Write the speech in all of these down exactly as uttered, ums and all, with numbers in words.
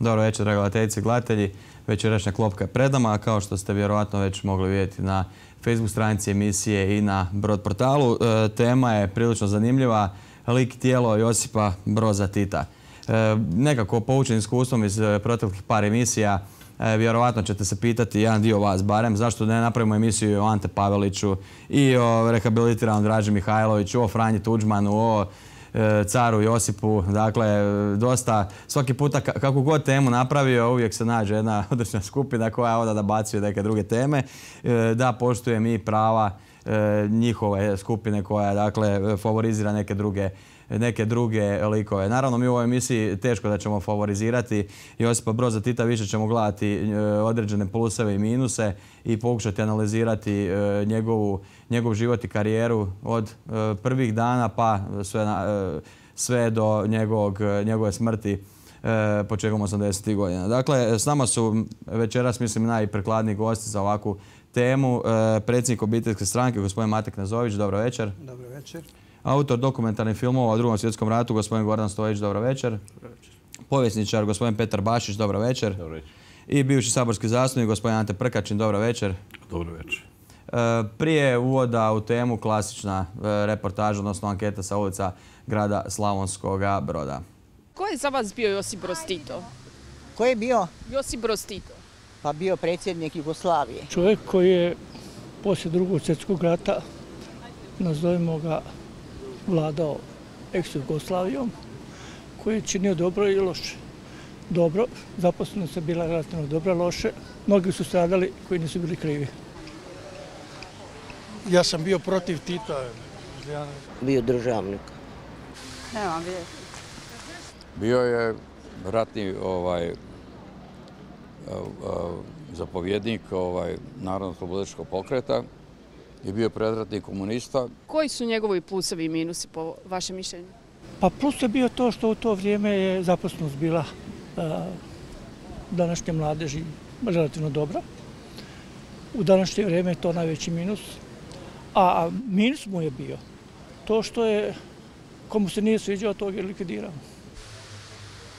Dobro večer, dragi gledateljice i gledatelji. Večerašnja klopka je pred nama, a kao što ste vjerojatno već mogli vidjeti na Facebook stranici emisije i na Brod portalu. E, tema je prilično zanimljiva. Lik i tijelo Josipa Broza Tita. E, nekako poučen iskustvom iz proteklih par emisija, e, vjerojatno ćete se pitati, jedan dio vas barem, zašto ne napravimo emisiju o Ante Paveliću i o rehabilitiranom Draži Mihajloviću, o Franji Tuđmanu, o caru Josipu. Dakle, dosta, svaki puta kako god temu napravio, uvijek se nađe jedna određena skupina koja onda nabacuje neke druge teme. Da, poštujem i prava njihove skupine koja, dakle, favorizira neke druge neke druge likove. Naravno, mi u ovoj emisiji teško da ćemo favorizirati Josipa Broza Tita, više ćemo gledati određene pluseve i minuse i pokušati analizirati njegovu, njegov život i karijeru od prvih dana pa sve, na, sve do njegovog, njegove smrti početkom osamdesetih godina. Dakle, s nama su večeras, mislim, najprikladniji gosti za ovakvu temu. Predsjednik obiteljske stranke, gospodin Mate Knezović, dobro večer. Dobro večer. Autor dokumentarnih filmova o Drugom svjetskom ratu, gospodin Gordan Stojić, dobro večer. Dobro večer. Povjesničar, gospodin Petar Bašić, dobro večer. Dobro večer. I bivši saborski zastupnik, gospodin Ante Prkačin, dobro večer. Dobro večer. E, prije uvoda u temu klasična e, reportaža, odnosno anketa sa ulica grada Slavonskoga Broda. Ko je za vas bio Josip Broz Tito? Ko je bio? Josip Broz Tito. Pa bio predsjednik Jugoslavije. Čovjek koji je poslije Drugog svjetskog rata, nazovimo ga, vladao ex-Jugoslavijom, koji je činio dobro i loše. Dobro, zaposlenost je bila relativno dobra, loše. Mnogi su stradali koji nisu bili krivi. Ja sam bio protiv Tita. Ja... Bio državnik. Nemam vijesti. Bio je ratni ovaj, zapovjednik ovaj, Narodno-slobodilačkog pokreta i bio predratni komunista. Koji su njegovi plusevi i minusi po vašem mišljenju? Pa plus je bio to što u to vrijeme je zaposlenost bila a, današnje mladeži relativno dobra. U današnje vrijeme je to najveći minus. A minus mu je bio to što je, komu se nije sviđao, tog je likvidirao.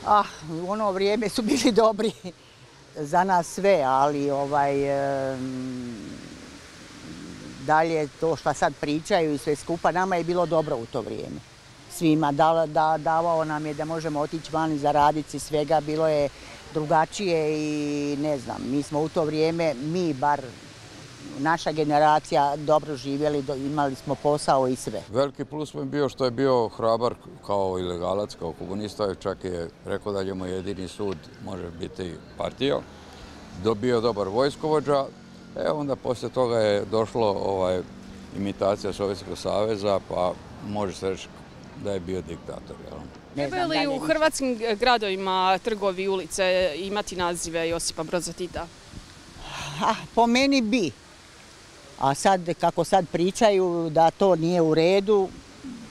Ah, u ono vrijeme su bili dobri za nas sve, ali ovaj... E, dalje to što sad pričaju i sve skupa, nama je bilo dobro u to vrijeme. Svima da, da, davao nam je da možemo otići van i zaraditi svega, bilo je drugačije i ne znam, mi smo u to vrijeme, mi bar, naša generacija dobro živjeli, imali smo posao i sve. Veliki plus mu je bio što je bio hrabar kao ilegalac, kao komunista, čak je rekao da njemu jedini sud može biti partija. Dobio dobar vojskovođa. E onda poslije toga je došlo ovaj, imitacija Sovjetskog saveza, pa može se reći da je bio diktator. Trebaju li u hrvatskim gradovima trgovi i ulice imati nazive Josipa Broza Tita? Ah, po meni bi. A sad, kako sad pričaju da to nije u redu,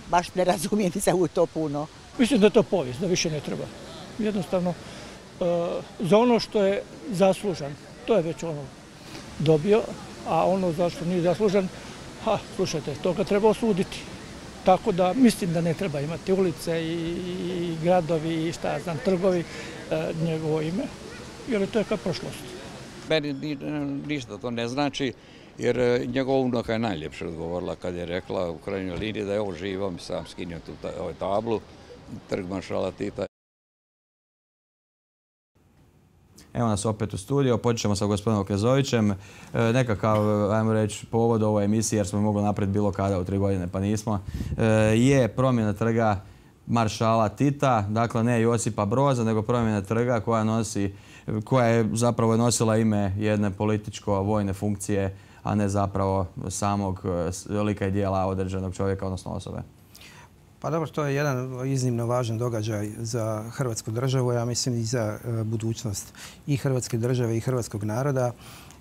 baš ne razumijem se u to puno. Mislim da je to povijest, da više ne treba. Jednostavno, uh, za ono što je zaslužan, to je već ono dobio, a ono zašto nije zaslužan, ha, slušajte, toga treba osuditi. Tako da mislim da ne treba imati ulice i, i gradovi i šta ja znam, trgovi, e, njegovo ime, jer to je kao prošlost. Meni ništa to ne znači, jer njegova unuka je najljepše odgovorila kad je rekla u krajnjoj liniji da je ovo živo, mi sam skinio tu ta, ovaj tablu, Trg maršala Tita. Evo nas opet u studiju, počet ćemo sa gospodinom Knezovićem. E, nekakav, ajmo reći, povod ovoj emisiji, jer smo mogli napraviti bilo kada u tri godine, pa nismo, e, je promjena trga maršala Tita, dakle ne Josipa Broza, nego promjena trga koja nosi, koja je zapravo nosila ime jedne političko-vojne funkcije, a ne zapravo samog lika i dijela određenog čovjeka, odnosno osobe. Pa dobro, to je jedan iznimno važan događaj za Hrvatsku državu, ja mislim i za budućnost i Hrvatske države i hrvatskog naroda,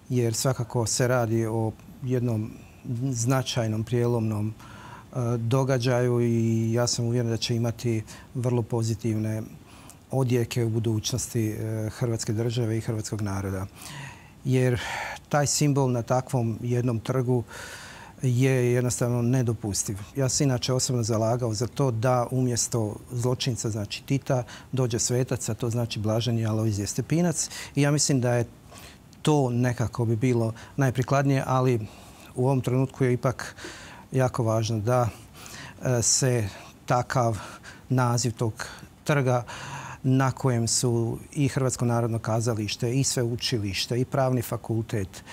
jer svakako se radi o jednom značajnom prijelomnom događaju i ja sam uvjeren da će imati vrlo pozitivne odjeke u budućnosti Hrvatske države i hrvatskog naroda. Jer taj simbol na takvom jednom trgu je jednostavno nedopustiv. Ja sam inače osobno zalagao za to da umjesto zločinca, znači Tita, dođe svetac, a to znači blaženi Alojzije Stepinac. I ja mislim da je to nekako bi bilo najprikladnije, ali u ovom trenutku je ipak jako važno da se takav naziv tog trga na kojem su i Hrvatsko narodno kazalište, i sveučilište, i pravni fakultet,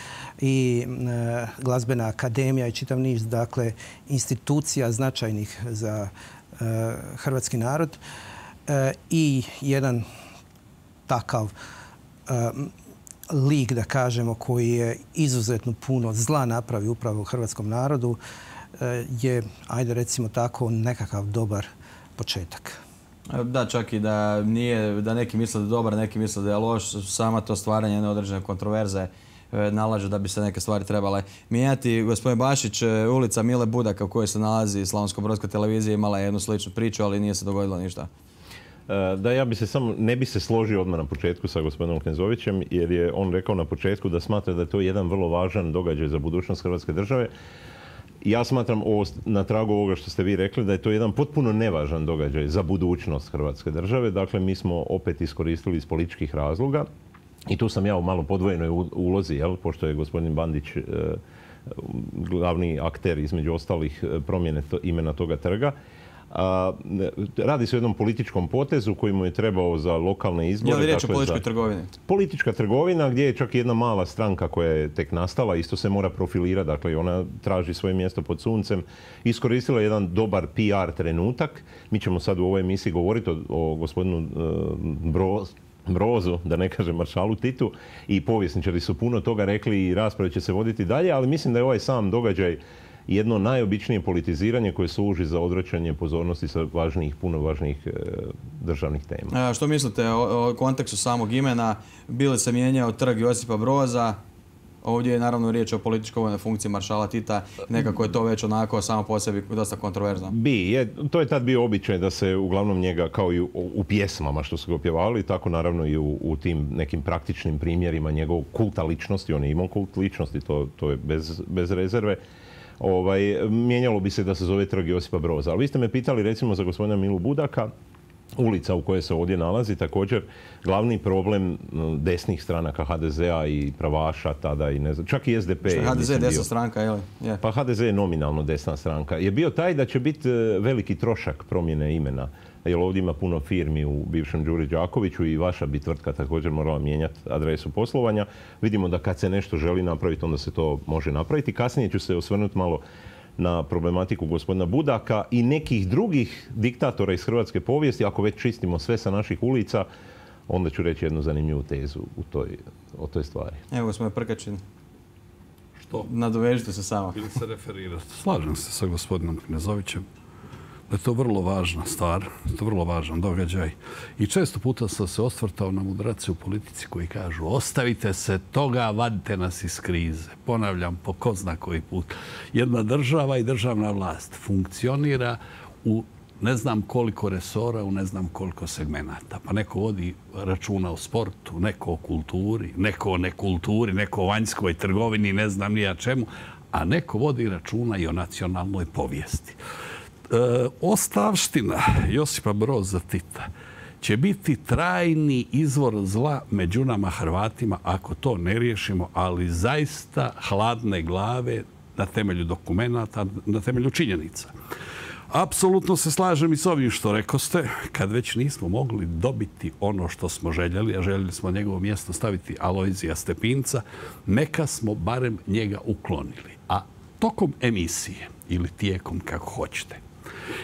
i e, glazbena akademija i čitav niz, dakle, institucija značajnih za e, hrvatski narod e, i jedan takav e, lik, da kažemo, koji je izuzetno puno zla napravio upravo u hrvatskom narodu, e, je, ajde recimo tako, nekakav dobar početak. Da, čak i da nije, da neki misle da je dobar, neki misle da je loš, sama to stvaranje jedne određene kontroverze nalaže da bi se neke stvari trebale mijenjati. Gospodin Bašić, ulica Mile Budaka u kojoj se nalazi Slavonsko-brodska televizija imala je jednu sličnu priču, ali nije se dogodilo ništa. Da, ja bi se samo, ne bi se složio odmah na početku sa gospodinom Knezovićem, jer je on rekao na početku da smatra da je to jedan vrlo važan događaj za budućnost Hrvatske države. Ja smatram ovo, na tragu ovoga što ste vi rekli, da je to jedan potpuno nevažan događaj za budućnost Hrvatske države. Dakle, mi smo opet iskoristili iz političkih razloga i tu sam ja u malo podvojenoj ulozi, jel, pošto je gospodin Bandić e, glavni akter između ostalih promjene to, imena toga trga. A, radi se o jednom političkom potezu koji mu je trebao za lokalne izbore. Je li riječ o političkoj trgovini? Politička trgovina gdje je čak jedna mala stranka koja je tek nastala, isto se mora profilirati, dakle ona traži svoje mjesto pod suncem. Iskoristila jedan dobar P R trenutak. Mi ćemo sad u ovoj emisiji govoriti o, o gospodinu uh, Broz, Brozu, da ne kažem maršalu Titu, i povjesničari su puno toga rekli i rasprave će se voditi dalje, ali mislim da je ovaj sam događaj jedno najobičnije politiziranje koje služi za odvraćanje pozornosti sa važnijih, puno važnijih e, državnih tema. A što mislite o, o kontekstu samog imena? Bili se mijenjao trg Josipa Broza, ovdje je naravno riječ o političkoj funkciji maršala Tita, nekako je to već onako samo po sebi dosta kontroverzno. Bi, je, to je tad bio običaj da se uglavnom njega, kao i u, u pjesmama što su ga opjevali, tako naravno i u, u tim nekim praktičnim primjerima njegovog kulta ličnosti, on je imao kult ličnosti, to, to je bez, bez rezerve. Ovaj, mijenjalo bi se da se zove trg Josipa Broza. Ali vi ste me pitali recimo za gospodina Milu Budaka, ulica u kojoj se ovdje nalazi, također glavni problem desnih stranaka H D Z-a i pravaša tada i ne znam, čak i S D P. Što je H D Z je desna stranka, je li? Yeah. Pa H D Z je nominalno desna stranka. Je bio taj da će biti veliki trošak promjene imena. Jer ovdje ima puno firmi u bivšem Đuri Đakoviću i vaša bi tvrtka također morala mijenjati adresu poslovanja. Vidimo da kad se nešto želi napraviti, onda se to može napraviti. Kasnije ću se osvrnuti malo na problematiku gospodina Budaka i nekih drugih diktatora iz hrvatske povijesti. Ako već čistimo sve sa naših ulica, onda ću reći jednu zanimljivu tezu u toj, o toj stvari. Evo, gospodin Prkačin. Što? Nadovežite se samo. Ili se referirati. Slažem se sa gospodinom Knezovićem da je to vrlo važna stvar, to je vrlo važan događaj. I često puta sam se osvrtao na mudrace u politici koji kažu ostavite se toga, vadite nas iz krize. Ponavljam po ko zna koji put. Jedna država i državna vlast funkcionira u ne znam koliko resora, u ne znam koliko segmenata. Pa neko vodi računa o sportu, neko o kulturi, neko o nekulturi, neko o vanjskoj trgovini, ne znam ni ja čemu, a neko vodi računa i o nacionalnoj povijesti. E, ostavština Josipa Broza Tita će biti trajni izvor zla među nama Hrvatima ako to ne riješimo, ali zaista hladne glave na temelju dokumenata, na temelju činjenica. Apsolutno se slažem i s ovim što rekoste, kad već nismo mogli dobiti ono što smo željeli, a željeli smo njegovo mjesto staviti Alojzija Stepinca, neka smo barem njega uklonili. A tokom emisije, ili tijekom kako hoćete,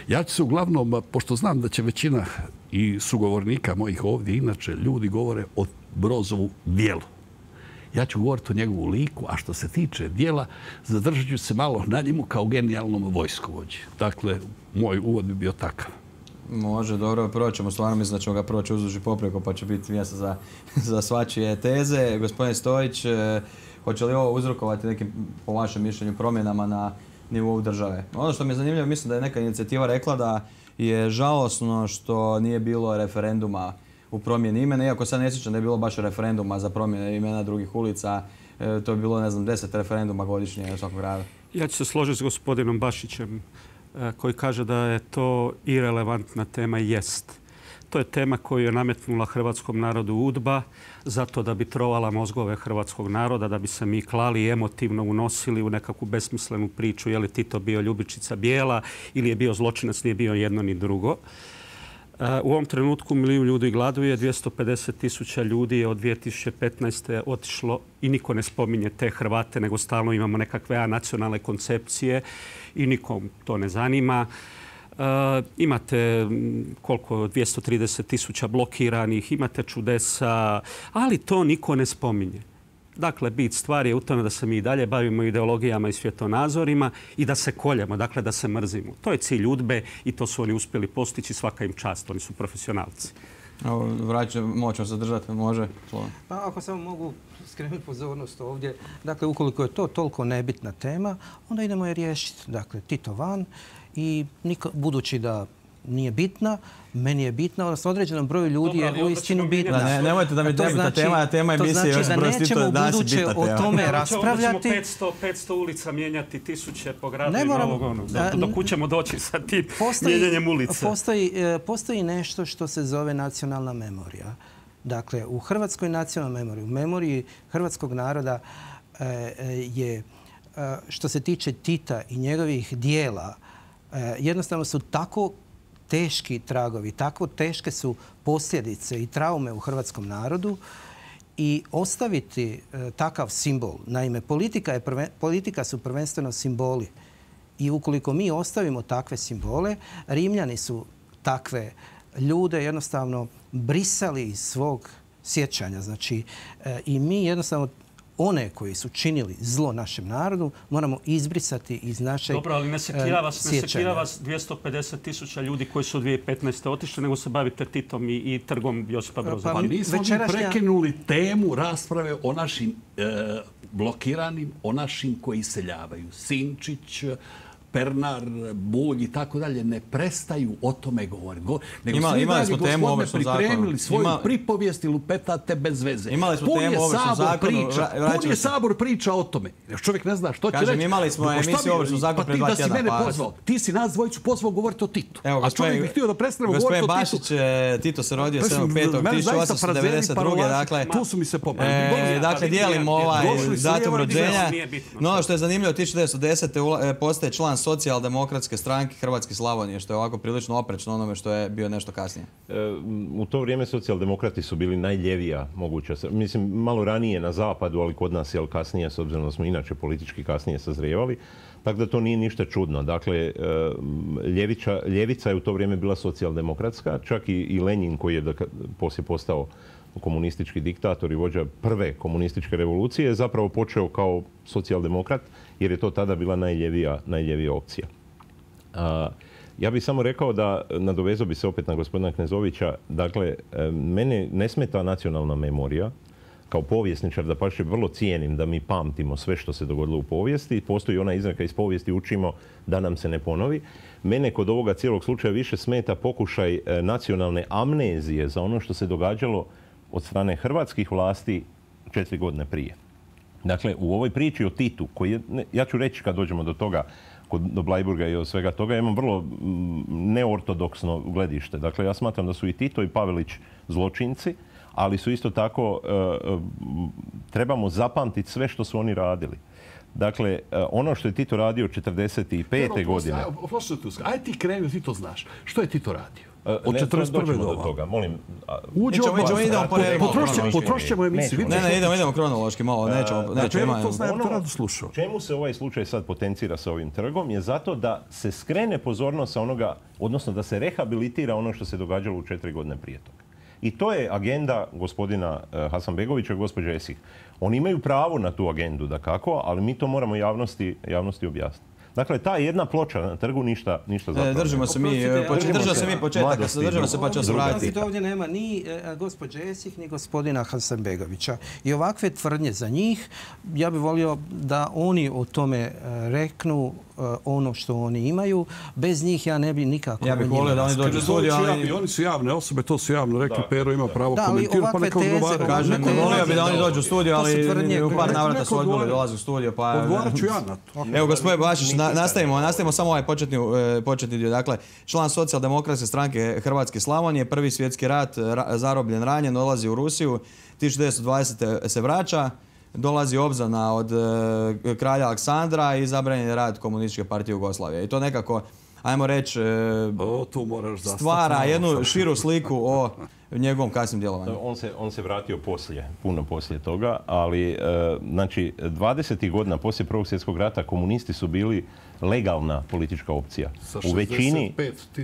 ja ću se uglavnom, pošto znam da će većina i sugovornika mojih ovdje, inače ljudi govore o Brozovu djelu. Ja ću govoriti o njegovu liku, a što se tiče dijela, zadržat ću se malo na njemu kao genijalnom vojskovođi. Dakle, moj uvod bi bio takav. Može, dobro, proćemo. Stvarno mislim da ćemo ga proći uzduž i popreko, pa će biti mjesta za, za svačije teze. Gospodin Stojić, hoće li ovo uzrokovati nekim, po vašem mišljenju, promjenama na nivou države? Ono što mi je zanimljivo, mislim da je neka inicijativa rekla da je žalosno što nije bilo referenduma u promjeni imena, iako sad ne sjećam da je bilo baš referenduma za promjene imena drugih ulica. E, to je bilo, ne znam, deset referenduma godišnje u svakog grada. Ja ću se složiti s gospodinom Bašićem koji kaže da je to irelevantna tema. Jest. To je tema koju je nametnula hrvatskom narodu UDBA zato da bi trovala mozgove hrvatskog naroda, da bi se mi klali i emotivno unosili u nekakvu besmislenu priču je li Tito bio ljubičica bijela ili je bio zločinac, nije bio jedno ni drugo. U ovom trenutku milijun ljudi gladuje, dvjesto pedeset tisuća ljudi je od dvije tisuće petnaeste. otišlo i niko ne spominje te Hrvate, nego stalno imamo nekakve anacionalne koncepcije i nikom to ne zanima. Uh, imate koliko, dvjesto trideset tisuća blokiranih, imate čudesa, ali to niko ne spominje. Dakle, bit stvari je u tome da se mi i dalje bavimo ideologijama i svjetonazorima i da se koljemo, dakle da se mrzimo. To je cilj UDBE i to su oni uspjeli postići, svaka im čast, oni su profesionalci. Vraćam, moćemo zadržati, može? Pa ako samo mogu skrenuti pozornost ovdje, dakle ukoliko je to toliko nebitna tema, onda idemo je riješiti. Dakle, Tito van i niko, budući da nije bitna, meni je bitna, odnosno određenom broju ljudi je uistinu bitna. Da, ne, nemojte da mi nebitna znači, tema, a tema emisije još broj Tito danas je bitna tema. O tome raspravljati. petsto, petsto ulica mijenjati, tisuće po gradu i novog ono. Dok ćemo doći sa tim postoji, mijenjanjem ulice. Postoji, postoji nešto što se zove nacionalna memorija. Dakle, u hrvatskoj nacionalnoj memoriji, u memoriji hrvatskog naroda je, što se tiče Tita i njegovih dijela, jednostavno su tako teški tragovi, tako teške su posljedice i traume u hrvatskom narodu i ostaviti e, takav simbol. Naime, politika, je prve, politika su prvenstveno simboli i ukoliko mi ostavimo takve simbole, Rimljani su takve ljude jednostavno brisali iz svog sjećanja. Znači, e, i mi jednostavno one koji su činili zlo našem narodu moramo izbrisati iz našeg Dobro, ali ne sekira vas, ne sekira vas dvjesto pedeset tisuća ljudi koji su u dvije tisuće petnaeste. otišli, nego se bavite Titom i, i trgom Josipa Broza. Pa nismo večerašnja... mi prekinuli temu rasprave o našim e, blokiranim, o našim koji iseljavaju. Sinčić, Pernar, Bulj i tako dalje ne prestaju o tome govoriti. Go, nego Ima, svi imali smo temu u ovršnom zakonu. Pripremili svoju Ima... pripovijest i lupetate bez veze. Imali smo temu u ovršnom zakonu. Pun je Sabor priča o tome. Još čovjek ne zna što će Kažem, reći. imali smo emisiju u ovršnom zakonu pred dva tjedna. Pa ti da si mene pozvao. Ti si nas dvojicu pozvao govoriti o Titu. Evo, a čovjek bi htio da prestanemo govoriti o Titu. Gospodin Bašić, Tito se rodio sedmog petog tisuću osamsto devedeset druge. Dakle, tu su mi se popravili. Dakle, dijelimo ovaj datum rođenja. No, ono što je zanimljivo, tisuću devetsto desete. postaje član socijaldemokratske stranke Hrvatske Slavonije, što je ovako prilično oprečno onome što je bio nešto kasnije. U to vrijeme socijaldemokrati su bili najljevija moguća. Mislim, malo ranije na zapadu, ali kod nas je kasnije, s obzirom da smo inače politički kasnije sazrijevali. Tako da to nije ništa čudno. Dakle, ljevića, ljevica je u to vrijeme bila socijaldemokratska, čak i, i Lenin koji je poslije postao komunistički diktator i vođa prve komunističke revolucije je zapravo počeo kao socijaldemokrat jer je to tada bila najljevija, najljevija opcija. A, ja bih samo rekao da, nadovezao bi se opet na gospodina Knezovića, dakle, mene ne smeta nacionalna memorija. Kao povjesničar, da pače vrlo cijenim da mi pamtimo sve što se dogodilo u povijesti. Postoji ona izreka iz povijesti učimo da nam se ne ponovi. Mene kod ovoga cijelog slučaja više smeta pokušaj nacionalne amnezije za ono što se događalo od strane hrvatskih vlasti četiri godine prije. Dakle, u ovoj priči o Titu, koji je, ja ću reći kad dođemo do toga, do Bleiburga i od svega toga, ja imam vrlo neortodoksno gledište. Dakle, ja smatram da su i Tito i Pavelić zločinci, ali su isto tako, trebamo zapamtiti sve što su oni radili. Dakle, ono što je Tito radio četrdeset pete. godine... Ajde ti kreni, ti to znaš. Što je Tito radio? Od četrdeset prve do toga, molim. Uđemo, idemo po redu. Potrošit ćemo emisiju. Ne, ne, idemo, idemo kronološki malo, nećemo, nećemo. Ono čemu se ovaj slučaj sad potencira sa ovim trgom je zato da se skrene pozornost sa onoga, odnosno da se rehabilitira ono što se događalo u četiri godine prije toga. I to je agenda gospodina Hasanbegovića i gospođe Esih. Oni imaju pravo na tu agendu, dakako, ali mi to moramo javnosti, javnosti objasniti. Dakle, ta jedna ploča na trgu ništa, ništa zapravo. Držimo se mi, držimo se mi početak, držimo se pa će se vratiti. Ovdje nema ni gospođe Esih, ni gospodina Hasanbegovića. I ovakve tvrdnje za njih, ja bih volio da oni o tome reknu ono što oni imaju. Bez njih ja ne bi nikako... Ja bih volio da oni dođu u studiju, ali... Oni su javne osobe, to su javno rekli. Pero ima pravo komentirati, pa neka odgovaraju. Kažem, volio bi da oni dođu u studiju, ali u par navrata su odbili dolazi u studiju, pa... Odgovarat ću ja na to. Evo, gospodin Bašić, nastavimo, nastavimo samo ovaj početni, početni dio. Dakle, član Socijaldemokratske stranke Hrvatske Slavonije, Prvi svjetski rat, zarobljen, ranjen, dolazi u Rusiju, tisuću devetsto dvadesete se vraća, dolazi obznana od e, kralja Aleksandra i zabranjen je rad Komunističke partije Jugoslavije. I to nekako, ajmo reći, e, stvara jednu širu sliku o njegovom kasnim djelovanju. On se, on se vratio poslije, puno poslije toga, ali e, znači dvadesetih godina poslije Prvog svjetskog rata komunisti su bili legalna politička opcija. U većini,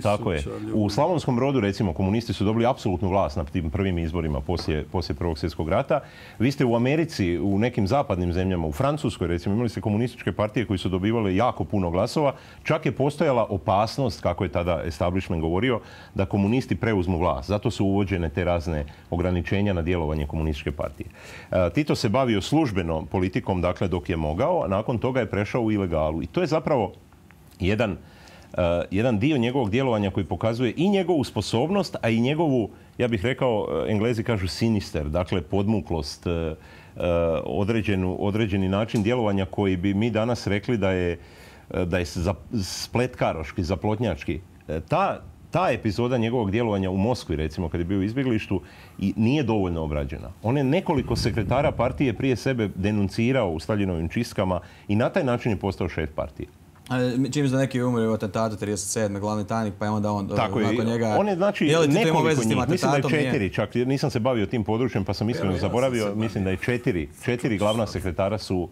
tako je. U Slavonskom Brodu, recimo, komunisti su dobili apsolutnu vlast na tim prvim izborima poslije, poslije Prvog svjetskog rata. Vi ste u Americi, u nekim zapadnim zemljama, u Francuskoj, recimo, imali ste komunističke partije koji su dobivale jako puno glasova. Čak je postojala opasnost, kako je tada establishment govorio, da komunisti preuzmu vlast. Zato su uvođene te razne ograničenja na djelovanje komunističke partije. E, Tito se bavio službeno politikom, dakle, dok je mogao, a nakon toga je prešao u ilegalu. I to je zapravo jedan, uh, jedan dio njegovog djelovanja koji pokazuje i njegovu sposobnost, a i njegovu, ja bih rekao, Englezi kažu sinister, dakle podmuklost, uh, uh, određenu, određeni način djelovanja koji bi mi danas rekli da je, uh, da je za, spletkaroški, zaplotnjački. Uh, ta, ta epizoda njegovog djelovanja u Moskvi, recimo, kad je bio u izbjeglištu, i nije dovoljno obrađena. On je nekoliko sekretara partije prije sebe denuncirao u Staljinovim čistkama i na taj način je postao šef partije. Čim za neki umri u atentatu trideset sedme glavni tajnik, pa je onda on tako nakon je, njega... On je znači je nekoliko njih, mislim da je četiri, čak nisam se bavio tim područjem pa sam iskreno zaboravio, mislim da je četiri, četiri glavna sekretara su uh,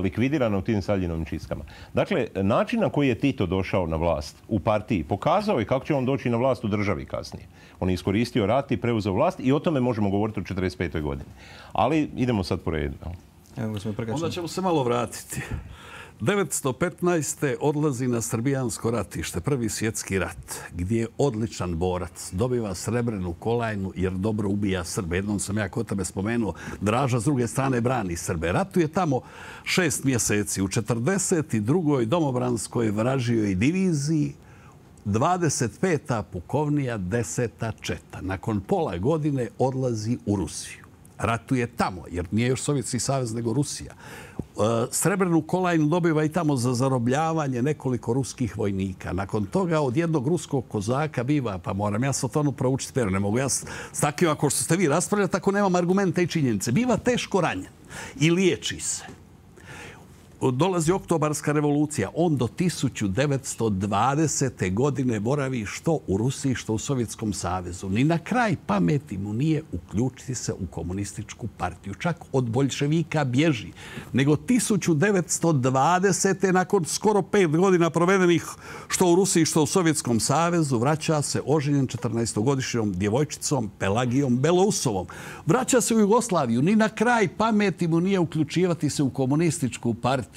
likvidirana u tim Staljinovim čistkama. Dakle, način na koji je Tito došao na vlast u partiji pokazao je kako će on doći na vlast u državi kasnije. On je iskoristio rat i preuzeo vlast i o tome možemo govoriti u četrdeset petoj godini. Ali idemo sad po redu. Evo, onda ćemo se malo vratiti. devetsto petnaeste. odlazi na srbijansko ratište, Prvi svjetski rat, gdje je odličan borac, dobiva srebrenu kolajnu jer dobro ubija Srbe. Jednom sam ja kod tebe spomenuo, Draža s druge strane brani Srbe. Ratuje tamo šest mjeseci. U četrdeset drugoj domobranskoj vražijoj diviziji, dvadeset peta pukovnija, deseta četa. Nakon pola godine odlazi u Rusiju. Ratuje tamo, jer nije još Sovjetski savez nego Rusija. Srebrnu kolajnu dobiva i tamo za zarobljavanje nekoliko ruskih vojnika. Nakon toga od jednog ruskog kozaka biva, pa moram ja sad ono proučiti, pero ne mogu ja s takvim, ako što ste vi raspravljati, tako nemam argumente i činjenice. Biva teško ranjen i liječi se. Dolazi Oktobarska revolucija. On do tisuću devetsto dvadesete. godine boravi što u Rusiji, što u Sovjetskom savezu. Ni na kraj pameti mu nije uključiti se u komunističku partiju. Čak od boljševika bježi. Nego tisuću devetsto dvadesete. nakon skoro pet godina provedenih što u Rusiji, što u Sovjetskom savezu, vraća se oženjen četrnaestogodišnjom djevojčicom Pelagijom Belousovom. Vraća se u Jugoslaviju. Ni na kraj pameti mu nije uključivati se u komunističku partiju.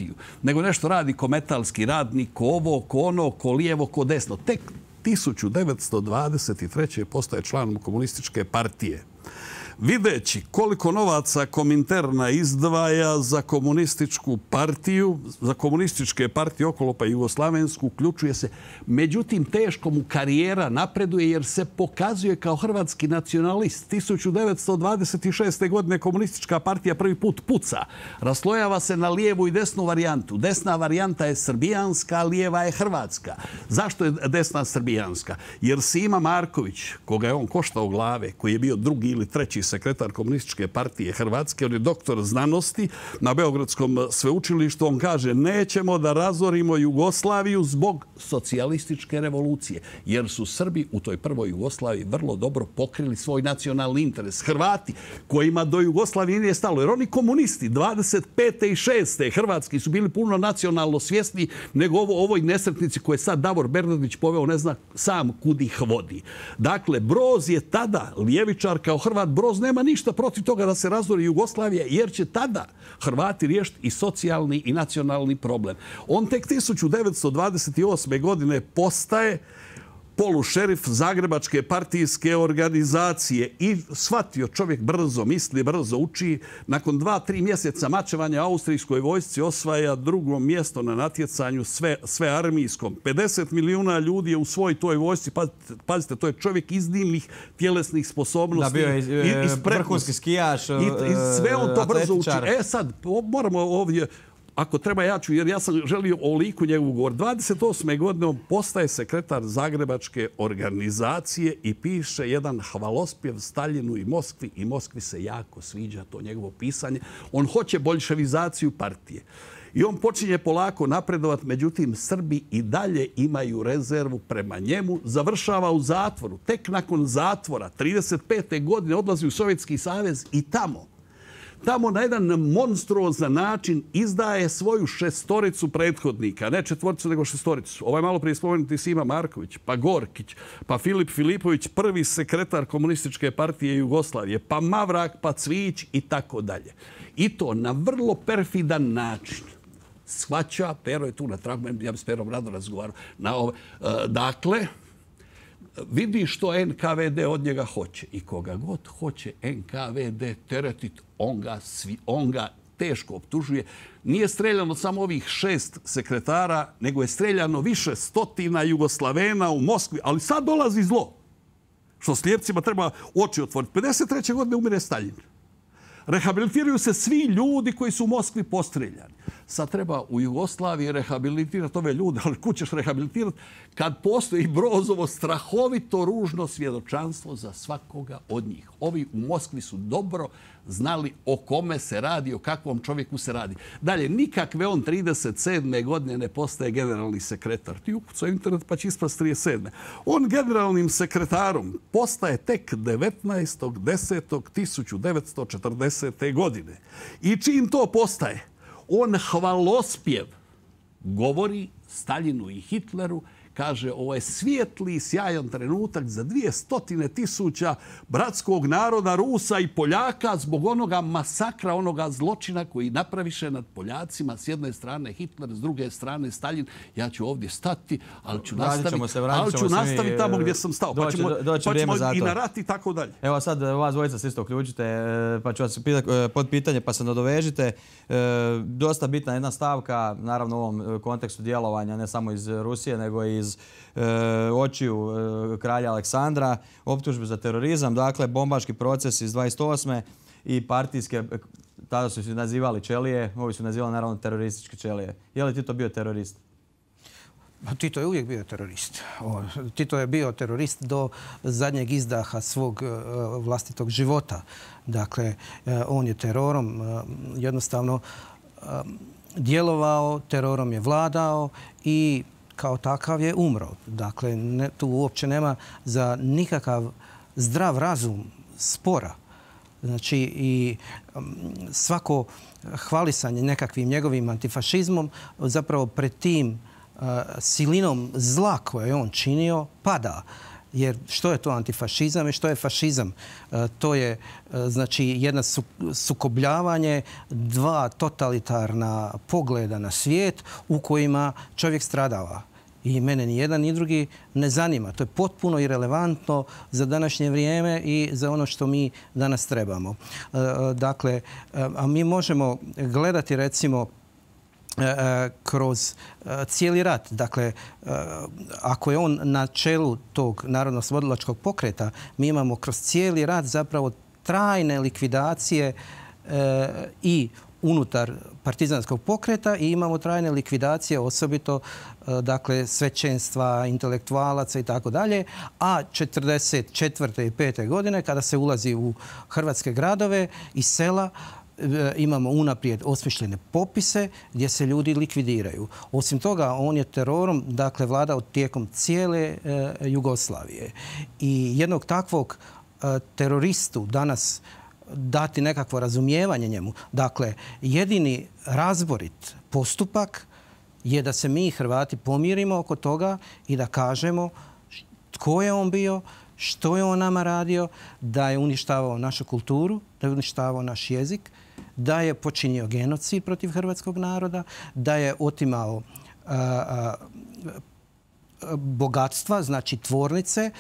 Nego nešto radi ko metalski radnik, ko ovo, ko ono, ko lijevo, ko desno. Tek tisuću devetsto dvadeset treće. postaje članom komunističke partije. Videći koliko novaca Kominterna izdvaja za komunističku partiju, za komunističke partije okolo pa i jugoslavensku, uključuje se. Međutim, teško mu karijera napreduje jer se pokazuje kao hrvatski nacionalist. tisuću devetsto dvadeset šeste. godine komunistička partija prvi put puca. Raslojava se na lijevu i desnu varijantu. Desna varijanta je srbijanska, a lijeva je hrvatska. Zašto je desna srbijanska? Jer Sima Marković, koga je on koštao glave, koji je bio drugi ili treći bivši sekretar Komunističke partije Hrvatske, on je doktor znanosti na Beogradskom sveučilištu. On kaže, nećemo da razorimo Jugoslaviju zbog socijalističke revolucije, jer su Srbi u toj prvoj Jugoslaviji vrlo dobro pokrili svoj nacionalni interes. Hrvati, kojima do Jugoslavije nije stalo, jer oni komunisti dvadeset pete i šeste Hrvatski su bili puno nacionalno svjesni nego ovo, ovoj nesretnici koje sad Davor Bernardić poveo, ne zna sam kud ih vodi. Dakle, Broz je tada, ljevičar kao Hrvat, Broz nema ništa protiv toga da se razori Jugoslavija, jer će tada Hrvati riješiti i socijalni i nacionalni problem. On tek tisuću devetsto dvadeset osme. godine postaje polušerif Zagrebačke partijske organizacije i shvatio, čovjek brzo misli, brzo uči. Nakon dva, tri mjeseca mačevanja austrijskoj vojsci osvaja drugo mjesto na natjecanju sve, sve armijskom. pedeset milijuna ljudi je u svoj toj vojsci. Pazite, pazite, to je čovjek iznimnih tjelesnih sposobnosti. Da, bio je vrhunski skijaš, I, i sve on to brzo uči. E sad, moramo ovdje... Ako treba, ja ću, jer ja sam želio o liku njegovu govor. dvadeset osme. godine on postaje sekretar Zagrebačke organizacije i piše jedan hvalospjev Staljinu i Moskvi i Moskvi se jako sviđa to njegovo pisanje. On hoće boljševizaciju partije. I on počinje polako napredovati, međutim, Srbi i dalje imaju rezervu prema njemu. Završava u zatvoru. Tek nakon zatvora, trideset pete. godine, odlazi u Sovjetski savez i tamo Tamo na jedan monstruozan način izdaje svoju šestoricu prethodnika. Ne četvoricu, nego šestoricu. Ovaj malo prije spomenuti Sima Marković, pa Gorkić, pa Filip Filipović, prvi sekretar Komunističke partije Jugoslavije, pa Mavrak, pa Cvijić i tako dalje. I to na vrlo perfidan način. Shvaća, Pero je tu na tragu, ja bi s Perom rado razgovarao. Na ove, dakle, vidi što en ka ve de od njega hoće. I koga god hoće en ka ve de teretiti, on ga, svi, on ga teško optužuje. Nije streljano samo ovih šest sekretara, nego je streljano više stotina Jugoslavena u Moskvi. Ali sad dolazi zlo. Što slijepcima treba oči otvoriti. pedeset treće. godine umire Staljin. Rehabilitiraju se svi ljudi koji su u Moskvi postreljani. Sad treba u Jugoslaviji rehabilitirati ove ljude, ali kud ćeš rehabilitirati kad postoji Brozovo strahovito ružno svjedočanstvo za svakoga od njih. Ovi u Moskvi su dobro znali o kome se radi, o kakvom čovjeku se radi. Dalje, nikakve on trideset sedme. godine ne postaje generalni sekretar. Ti ukucao internet pa će ispast trideset sedme. On generalnim sekretarom postaje tek devetnaestog desetog tisuću devetsto četrdesete. godine. I čim to postaje, on hvalospjev govori Staljinu i Hitleru, kaže, ovo je svijetli, sjajan trenutak za dvije stotine tisuća bratskog naroda, Rusa i Poljaka zbog onoga masakra, onoga zločina koji napraviše nad Poljacima. S jedne strane Hitler, s druge strane Staljin. Ja ću ovdje stati, ali ću nastaviti, se, ali ću nastaviti tamo gdje sam stao. Doći, pa ćemo, doći pa ćemo i na rat i tako dalje. Evo sad vas dvojica se isto uključite, pa ću vas pitati pod pitanje pa se nadovežite. Dosta bitna jedna stavka, naravno u ovom kontekstu djelovanja, ne samo iz Rusije, nego i iz e, očiju e, kralja Aleksandra, optužbe za terorizam, dakle bombaški proces iz dvadeset osme i partijske, tada su se nazivali čelije, ovi su nazivali naravno terorističke čelije. Je li Tito bio terorist? Tito je uvijek bio terorist. Tito je bio terorist do zadnjeg izdaha svog vlastitog života. Dakle, on je terorom jednostavno djelovao, terorom je vladao i kao takav je umro. Dakle, ne, tu uopće nema za nikakav zdrav razum spora. Znači, i svako hvalisanje nekakvim njegovim antifašizmom zapravo pred tim uh, silinom zla koje je on činio pada. Jer što je to antifašizam i što je fašizam? Uh, to je uh, znači jedno su, sukobljavanje dva totalitarna pogleda na svijet u kojima čovjek stradava. I mene ni jedan ni drugi ne zanima. To je potpuno irelevantno za današnje vrijeme i za ono što mi danas trebamo. Dakle, a mi možemo gledati recimo kroz cijeli rat. Dakle, ako je on na čelu tog narodno-oslobodilačkog pokreta, mi imamo kroz cijeli rat zapravo trajne likvidacije i unutar partizanskog pokreta i imamo trajne likvidacije, osobito dakle, svećenstva, intelektualaca i tako dalje. A četrdeset četvrte i pete godine, kada se ulazi u hrvatske gradove i sela, imamo unaprijed osmišljene popise gdje se ljudi likvidiraju. Osim toga, on je terorom dakle, vladao tijekom cijele e, Jugoslavije. I jednog takvog e, teroristu danas dati nekakvo razumijevanje njemu. Dakle, jedini razborit postupak je da se mi Hrvati pomirimo oko toga i da kažemo tko je on bio, što je on nama radio, da je uništavao našu kulturu, da je uništavao naš jezik, da je počinio genocid protiv hrvatskog naroda, da je otimao a, a, bogatstva, znači tvornice,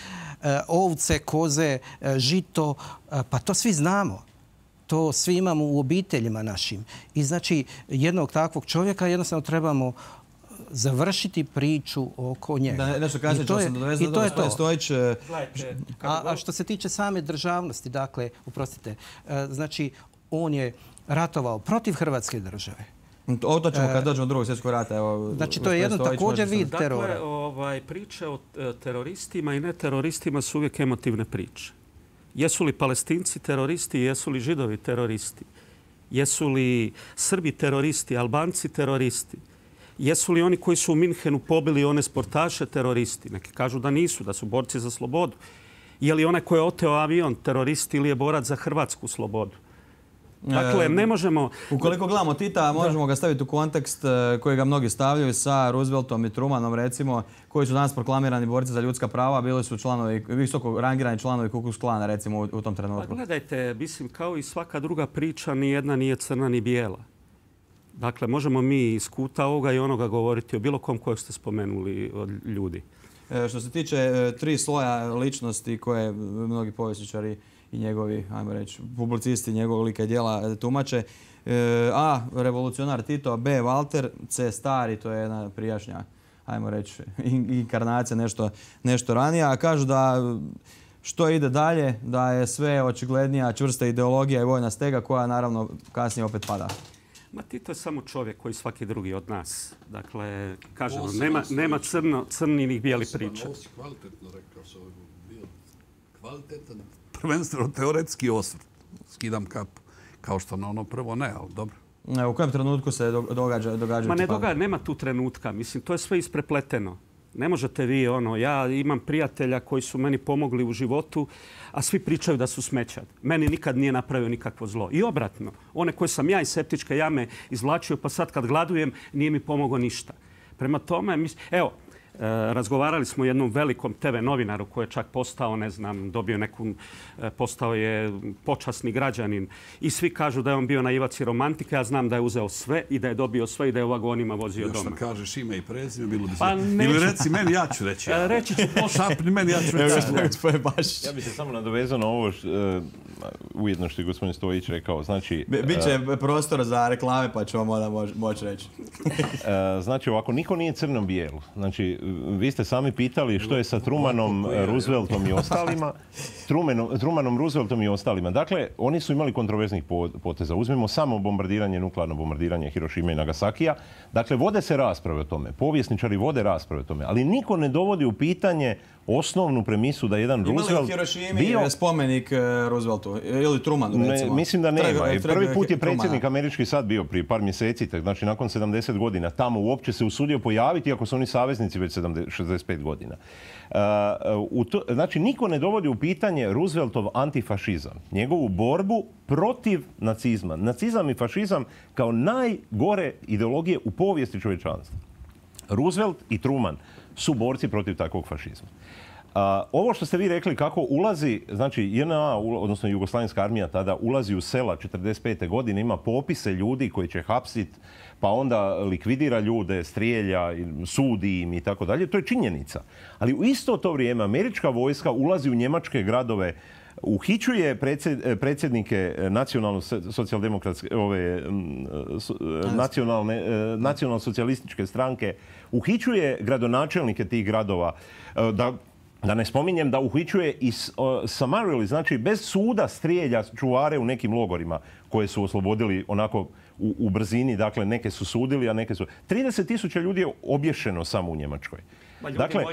a, ovce, koze, a, žito, a, pa to svi znamo. To svi imamo u obiteljima našim. I znači jednog takvog čovjeka jednostavno trebamo završiti priču oko njega. Da, nešto kasnije ću sam dovezati. I to je to. Stojić, a, a što se tiče same državnosti, dakle, uprostite, znači on je ratovao protiv Hrvatske države. O to ćemo kad dođemo do drugog svjetskog rata. Evo, znači to je jedno također vid terora. Dakle, ovaj, priče o teroristima i neteroristima su uvijek emotivne priče. Jesu li Palestinci teroristi, jesu li Židovi teroristi? Jesu li Srbi teroristi, Albanci teroristi? Jesu li oni koji su u Minhenu pobili one sportaše teroristi? Neki kažu da nisu, da su borci za slobodu. Je li onaj koji je oteo avion teroristi ili je borac za hrvatsku slobodu? Dakle, ne možemo... Ukoliko gledamo Tita, možemo ga staviti u kontekst koji ga mnogi stavljaju sa Rooseveltom i Trumanom, recimo, koji su danas proklamirani borci za ljudska prava, bili su članovi, visoko rangirani članovi Ku Klux Klana, recimo, u tom trenutku. Pa gledajte, mislim, kao i svaka druga priča, ni jedna nije crna ni bijela. Dakle, možemo mi iz kuta ovoga i onoga govoriti o bilo kom kojeg ste spomenuli od ljudi. E, što se tiče e, tri sloja ličnosti koje mnogi povjesničari i njegovi, ajmo reći, publicisti njegovog lika i djela tumače. E, A. Revolucionar Tito, B. Walter, C. Stari, to je jedna prijašnja, ajmo reći, inkarnacija, nešto, nešto ranija. A kažu da što ide dalje, da je sve očiglednija čvrsta ideologija i vojna stega koja naravno kasnije opet pada. Ma Tito je samo čovjek koji svaki drugi od nas. Dakle, kažemo, nema, nema crno, crni ni bijeli priča. Ovo si kvalitetno rekao, s ovim bio kvalitetan, prvenstveno teoretski osvrt. Skidam kapu. Kao što na ono prvo ne, ali dobro. U kojem trenutku se događa? događa Ma ne događa, nema tu trenutka. Mislim, to je sve isprepleteno. Ne možete vi, ono, ja imam prijatelja koji su meni pomogli u životu, a svi pričaju da su smećar. Meni nikad nije napravio nikakvo zlo. I obratno, one koje sam ja iz septičke jame izvlačio, pa sad kad gladujem, nije mi pomogao ništa. Prema tome, evo, razgovarali smo o jednom velikom te ve novinaru koji je čak postao, ne znam, dobio neku, postao je počasni građanin i svi kažu da je on bio naivac i romantika. Ja znam da je uzeo sve i da je dobio sve i da je u vagonima vozio doma. Još što kažeš ime i prezime, bilo bi pa ili reci meni, ja ću reći. Ja. Reći ću pošto. Šapni meni, ja ću reći. Ja bih se samo nadovezao na ovo š, uh, ujedno što je gospodin Stojić rekao. Znači, uh, Biće prostor za reklame pa ću vam onda moći moć reći. uh, znači ovako, niko nije crno-bijelo. Znači, vi ste sami pitali što je sa Trumanom, Rooseveltom i ostalima. Trumanom, Trumanom, Rooseveltom i ostalima. Dakle, oni su imali kontroverznih poteza. Uzmimo samo bombardiranje, nuklearno bombardiranje Hirošime i Nagasakija. Dakle, vode se rasprave o tome. Povjesničari vode rasprave o tome. Ali niko ne dovodi u pitanje osnovnu premisu da jedan Roosevelt bio... Imali u Hirošimi spomenik Rooseveltu ili Trumanu, recimo? Ne, mislim da nema. Prvi put je predsjednik američki sad bio prije par mjeseci, znači nakon sedamdeset godina. Tamo uopće se usudio pojaviti, iako su oni saveznici već šezdeset pet godina. Uh, u to, znači, niko ne dovodi u pitanje Rooseveltov antifašizam, njegovu borbu protiv nacizma. Nacizam i fašizam kao najgore ideologije u povijesti čovječanstva. Roosevelt i Truman su borci protiv takvog fašizma. Uh, ovo što ste vi rekli kako ulazi, znači J N A, odnosno Jugoslavenska armija tada ulazi u sela četrdeset pete godine, ima popise ljudi koji će hapsiti, pa onda likvidira ljude, strijelja, sudi im i tako dalje. To je činjenica. Ali u isto to vrijeme američka vojska ulazi u njemačke gradove, uhićuje predsjednike nacionalno-socijaldemokratske, ove, nacionalne, nacionalno-socijalističke stranke, uhićuje gradonačelnike tih gradova, da Da ne spominjem da uhićuje i summarily, znači bez suda strijelja čuvare u nekim logorima koje su oslobodili onako u, u brzini. Dakle, neke su sudili, a neke su... trideset tisuća ljudi je obješeno samo u Njemačkoj. Dakle,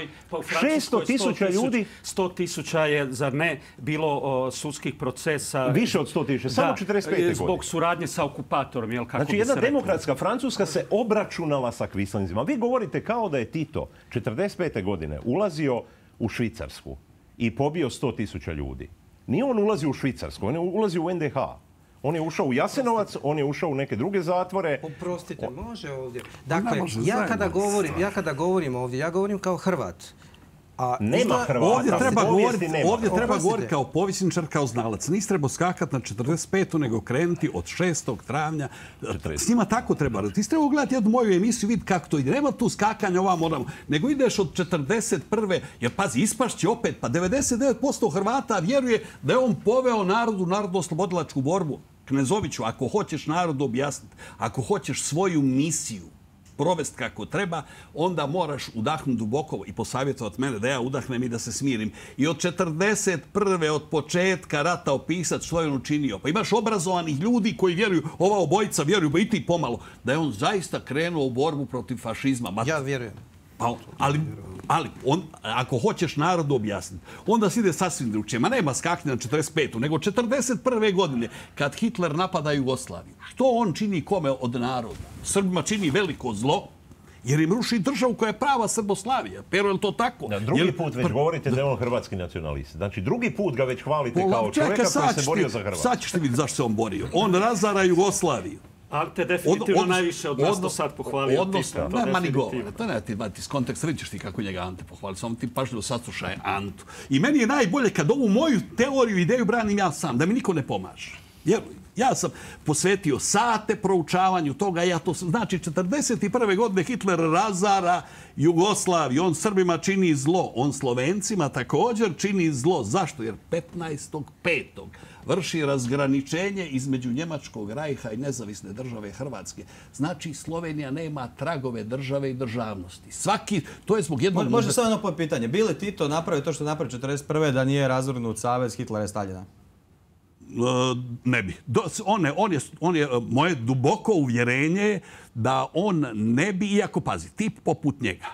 šesto tisuća ljudi... sto tisuća je, zar ne, bilo o, sudskih procesa... Više od sto tisuća, samo četrdeset pete godine. Zbog suradnje sa okupatorom, jel, kako znači, bi jedna se demokratska Francuska se obračunala sa kvislinzima. Vi govorite kao da je Tito četrdeset pete godine ulazio u Švicarsku i pobio sto tisuća ljudi. Nije on ulazio u Švicarsku, on je ulazio u en de ha. On je ušao u Jasenovac, on je ušao u neke druge zatvore. Oprostite, može ovdje. Dakle, ja kada govorim, ja kada govorim ovdje, ja govorim kao Hrvat. A nema Hrvata. Ovdje treba govoriti, ovdje treba govoriti kao povjesničar, kao znalac. Nisi trebao skakati na četrdeset petu nego krenuti od šestog travnja. S njima tako treba. Ti si trebao gledati jednu moju emisiju, vidi kako to ide. Nema tu skakanja ova moramo. Nego ideš od četrdeset prve. Jer pazi, ispašće opet. Pa devedeset devet posto Hrvata vjeruje da je on poveo narodu, narodno-oslobodilačku borbu. Knezoviću, ako hoćeš narodu objasniti, ako hoćeš svoju misiju provesti kako treba, onda moraš udahnuti duboko i posavjetovati mene da ja udahnem i da se smirim. I od četrdeset prve od početka rata opisati što je on učinio. Pa imaš obrazovanih ljudi koji vjeruju, ova obojica vjeruju, i ti pomalo, da je on zaista krenuo u borbu protiv fašizma. Ja vjerujem. Pa, ali ali on, ako hoćeš narodu objasniti, onda se ide sasvim drugčije. Ma nema skaknje na četrdeset petu, nego četrdeset prve godine, kad Hitler napada Jugoslaviju. Što on čini kome od naroda? Srbima čini veliko zlo, jer im ruši državu koja je prava Srboslavija. Pero je li to tako? Da, drugi Jel, put već pr... govorite da je on hrvatski nacionalist. Znači, drugi put ga već hvalite Pola, kao čovjeka koji se borio za Hrvatsku. Sad ćeš ti vidjeti zašto se on borio. On razara Jugoslaviju. Ali te definitivno od, od, najviše od nas od, to sad pohvalio. Odnosno, ne, ma ni govore. To ne ti iz konteksta, vidiš ti kako njega Ante pohvali. Samo ti pažljivo saslušaj Antu. I meni je najbolje kad ovu moju teoriju, ideju branim ja sam, da mi niko ne pomaže. Vjeruj. Ja sam posvetio sate proučavanju toga. Ja to znači četrdeset prve godine Hitler razara Jugoslaviju. On Srbima čini zlo. On Slovencima također čini zlo. Zašto? Jer petnaestog petog vrši razgraničenje između Njemačkog rajha i nezavisne države Hrvatske. Znači, Slovenija nema tragove države i državnosti. Svaki, to je zbog jednog... Može samo jedno pitanje. Bi li Tito napravio to što je napravio četrdeset prve da nije razvrgnut savez Hitlera i Staljina? Ne bi. On je, on je, on je, moje duboko uvjerenje da on ne bi, iako pazi, tip poput njega.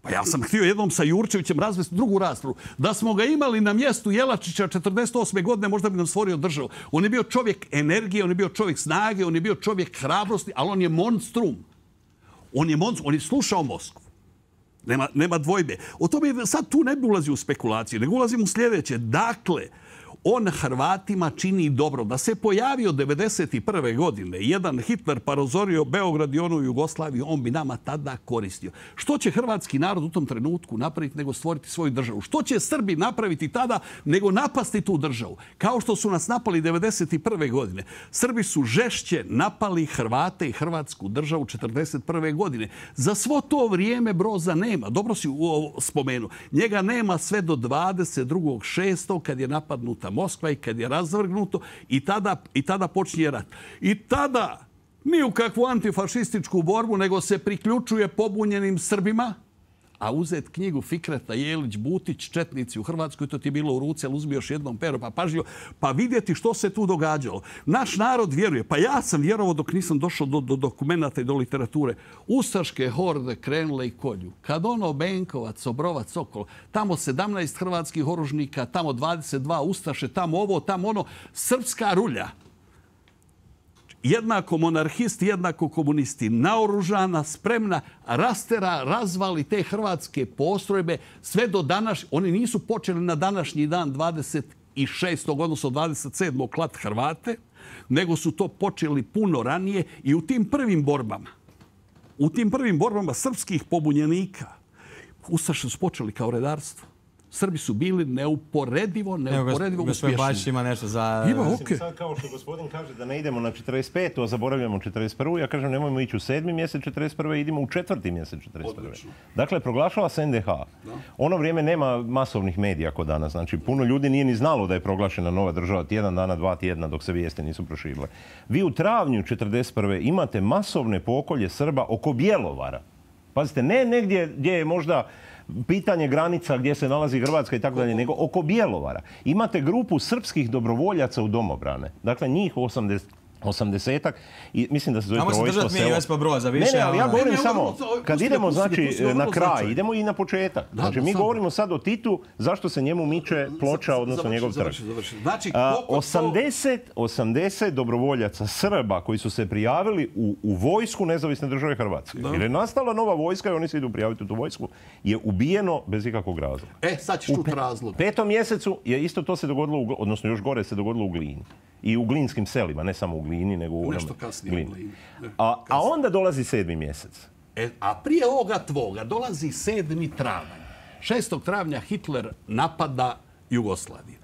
Pa ja sam htio jednom sa Jurčevićem razvesti drugu raspravu. Da smo ga imali na mjestu Jelačića četrdeset osme godine, možda bi nam stvorio državu. On je bio čovjek energije, on je bio čovjek snage, on je bio čovjek hrabrosti, ali on je monstrum. On je monstrum, on je slušao Moskvu. Nema, nema dvojbe. O tome sad tu ne bi ulazio u spekulacije, nego ulazim u sljedeće. Dakle, on Hrvatima čini dobro. Da se pojavio devedeset prve godine jedan Hitler pa razorio Beograd i onu Jugoslaviju, on bi nama tada koristio. Što će hrvatski narod u tom trenutku napraviti nego stvoriti svoju državu? Što će Srbi napraviti tada nego napasti tu državu? Kao što su nas napali devedeset prve godine. Srbi su žešće napali Hrvate i Hrvatsku državu četrdeset prve godine. Za svo to vrijeme Broza nema. Dobro si spomenuo. Njega nema sve do dvadeset drugog šestog kad je napadnuta Moskva i kad je razvrgnuto i tada, i tada počinje rat. I tada ni u kakvu antifašističku borbu, nego se priključuje pobunjenim Srbima, a uzet knjigu Fikreta Jelić-Butić, Četnici u Hrvatskoj, to ti je bilo u ruci, ali uzmi još jednom pero, pa pažljivo, pa vidjeti što se tu događalo. Naš narod vjeruje, pa ja sam vjerovao dok nisam došao do, do dokumenta i do literature. Ustaške horde krenule i kolju. Kad ono Benkovac, Obrovac, Sokol, tamo sedamnaest hrvatskih oružnika, tamo dvadeset dva Ustaše, tamo ovo, tamo ono, srpska rulja. Jednako monarhisti, jednako komunisti, naoružana, spremna, rastera, razvali te hrvatske postrojbe sve do danas. Oni nisu počeli na današnji dan dvadeset šestog odnosno dvadeset sedmog klat Hrvate, nego su to počeli puno ranije i u tim prvim borbama, u tim prvim borbama srpskih pobunjenika, Ustaše su počeli kao redarstvo. Srbi su bili neuporedivo, neuporedivo uspješni. Gospodin Bačić ima nešto za... Ima, okay. Sad kao što gospodin kaže da ne idemo na četrdeset petu, a zaboravljamo četrdeset prvu, ja kažem nemojmo ići u sedmi mjesec četrdeset prve, idimo u četvrti mjesec četrdeset prve. Odlično. Dakle, proglašava se en de ha. Da. Ono vrijeme nema masovnih medija kod danas. Znači, puno ljudi nije ni znalo da je proglašena nova država tjedan dana, dva tjedna dok se vijesti nisu proširile. Vi u travnju četrdeset prve imate masovne pokolje Srba oko Bjelovara. Pazite, ne negdje gdje je možda pitanje granica gdje se nalazi Hrvatska i tako dalje, nego oko Bjelovara. Imate grupu srpskih dobrovoljaca u domobrane. Dakle, njih osamdeset osamdesetak i mislim da se zove trojstvo selo. Ajmo se držati mi Josipa Broza više. Ne, ne, ali ja govorim samo, kad idemo znači na kraj, idemo i na početak. Znači mi govorimo sad o Titu, zašto se njemu miče ploča, odnosno njegov trg. osamdeset dobrovoljaca Srba koji su se prijavili u vojsku Nezavisne države Hrvatske, jer je nastala nova vojska i oni se idu prijaviti u tu vojsku, je ubijeno bez ikakvog razloga. E, sad ćeš čuti razlog. U petom mjesecu je isto to se dogodilo, odnosno još gore se dogodilo u Glini. I u glinskim selima, ne samo u Glini, nego u nešto kasnije u Glini. A, a onda dolazi sedmi mjesec. E, a prije ovoga tvoga dolazi sedmi travanj. šestog travnja Hitler napada Jugoslaviju.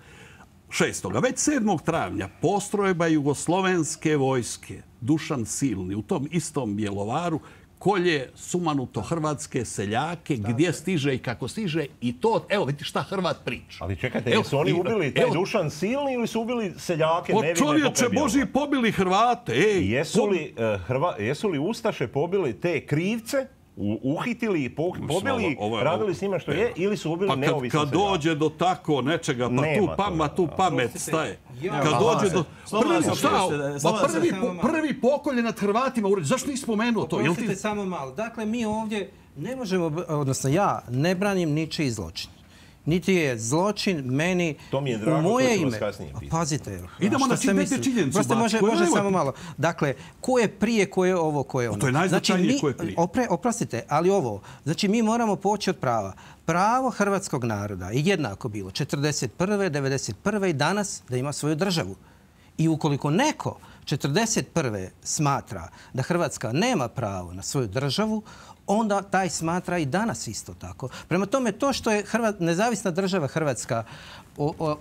šestoga Već sedmog travnja postrojba jugoslovenske vojske Dušan Silni u tom istom Bjelovaru kolje sumanuto hrvatske seljake, gdje stiže i kako stiže i to, evo vidite šta Hrvat priča. Ali čekajte, jesu oni ubili taj Dušan Silni ili su ubili seljake nevine? Po čovječe Boži pobili Hrvate. Jesu li Ustaše pobili te krivce, uhitili, pobili, radili s njima što je, ili su ubili neovisno seljake? Kad dođe do tako nečega, pa tu pamet staje. Kad dođe do... Prvi pokolje nad Hrvatima, zašto nisi spomenuo to? Oprostite samo malo. Dakle, mi ovdje ne možemo, odnosno ja ne branim ničiji zločin. Niti je zločin meni to mi je drago, u moje to ću ime. vas kasnije pitati. Pazite. Idemo na činjenicu. Prosto može, može samo malo. Dakle, ko je prije, ko je ovo, ko je ono. To je najznačajnije znači, ko je prije. Opre, oprostite, ali ovo. Znači, mi moramo poći od prava. Pravo hrvatskog naroda je jednako bilo četrdeset prve, devedeset prve i danas da ima svoju državu. I ukoliko neko četrdeset prve smatra da Hrvatska nema pravo na svoju državu, onda taj smatra i danas isto tako. Prema tome, to što je nezavisna država Hrvatska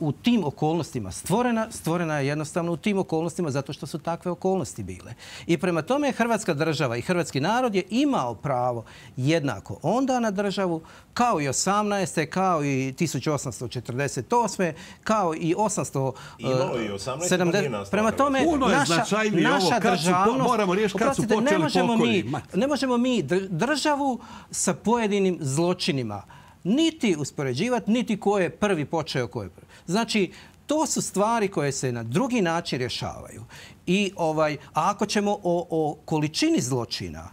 u tim okolnostima stvorena, stvorena je jednostavno u tim okolnostima zato što su takve okolnosti bile. I prema tome, Hrvatska država i hrvatski narod je imao pravo jednako onda na državu kao i osamnaeste kao i tisuću osamsto četrdeset osme kao i osamsto sedamdeset. Prema tome, naša državnost... Moramo riješiti kad su počeli pokolji. Ne možemo mi državu sa pojedinim zločinima niti uspoređivati, niti ko je prvi počeo, ko je prvi. Znači, to su stvari koje se na drugi način rješavaju. I ovaj, a ako ćemo o, o količini zločina,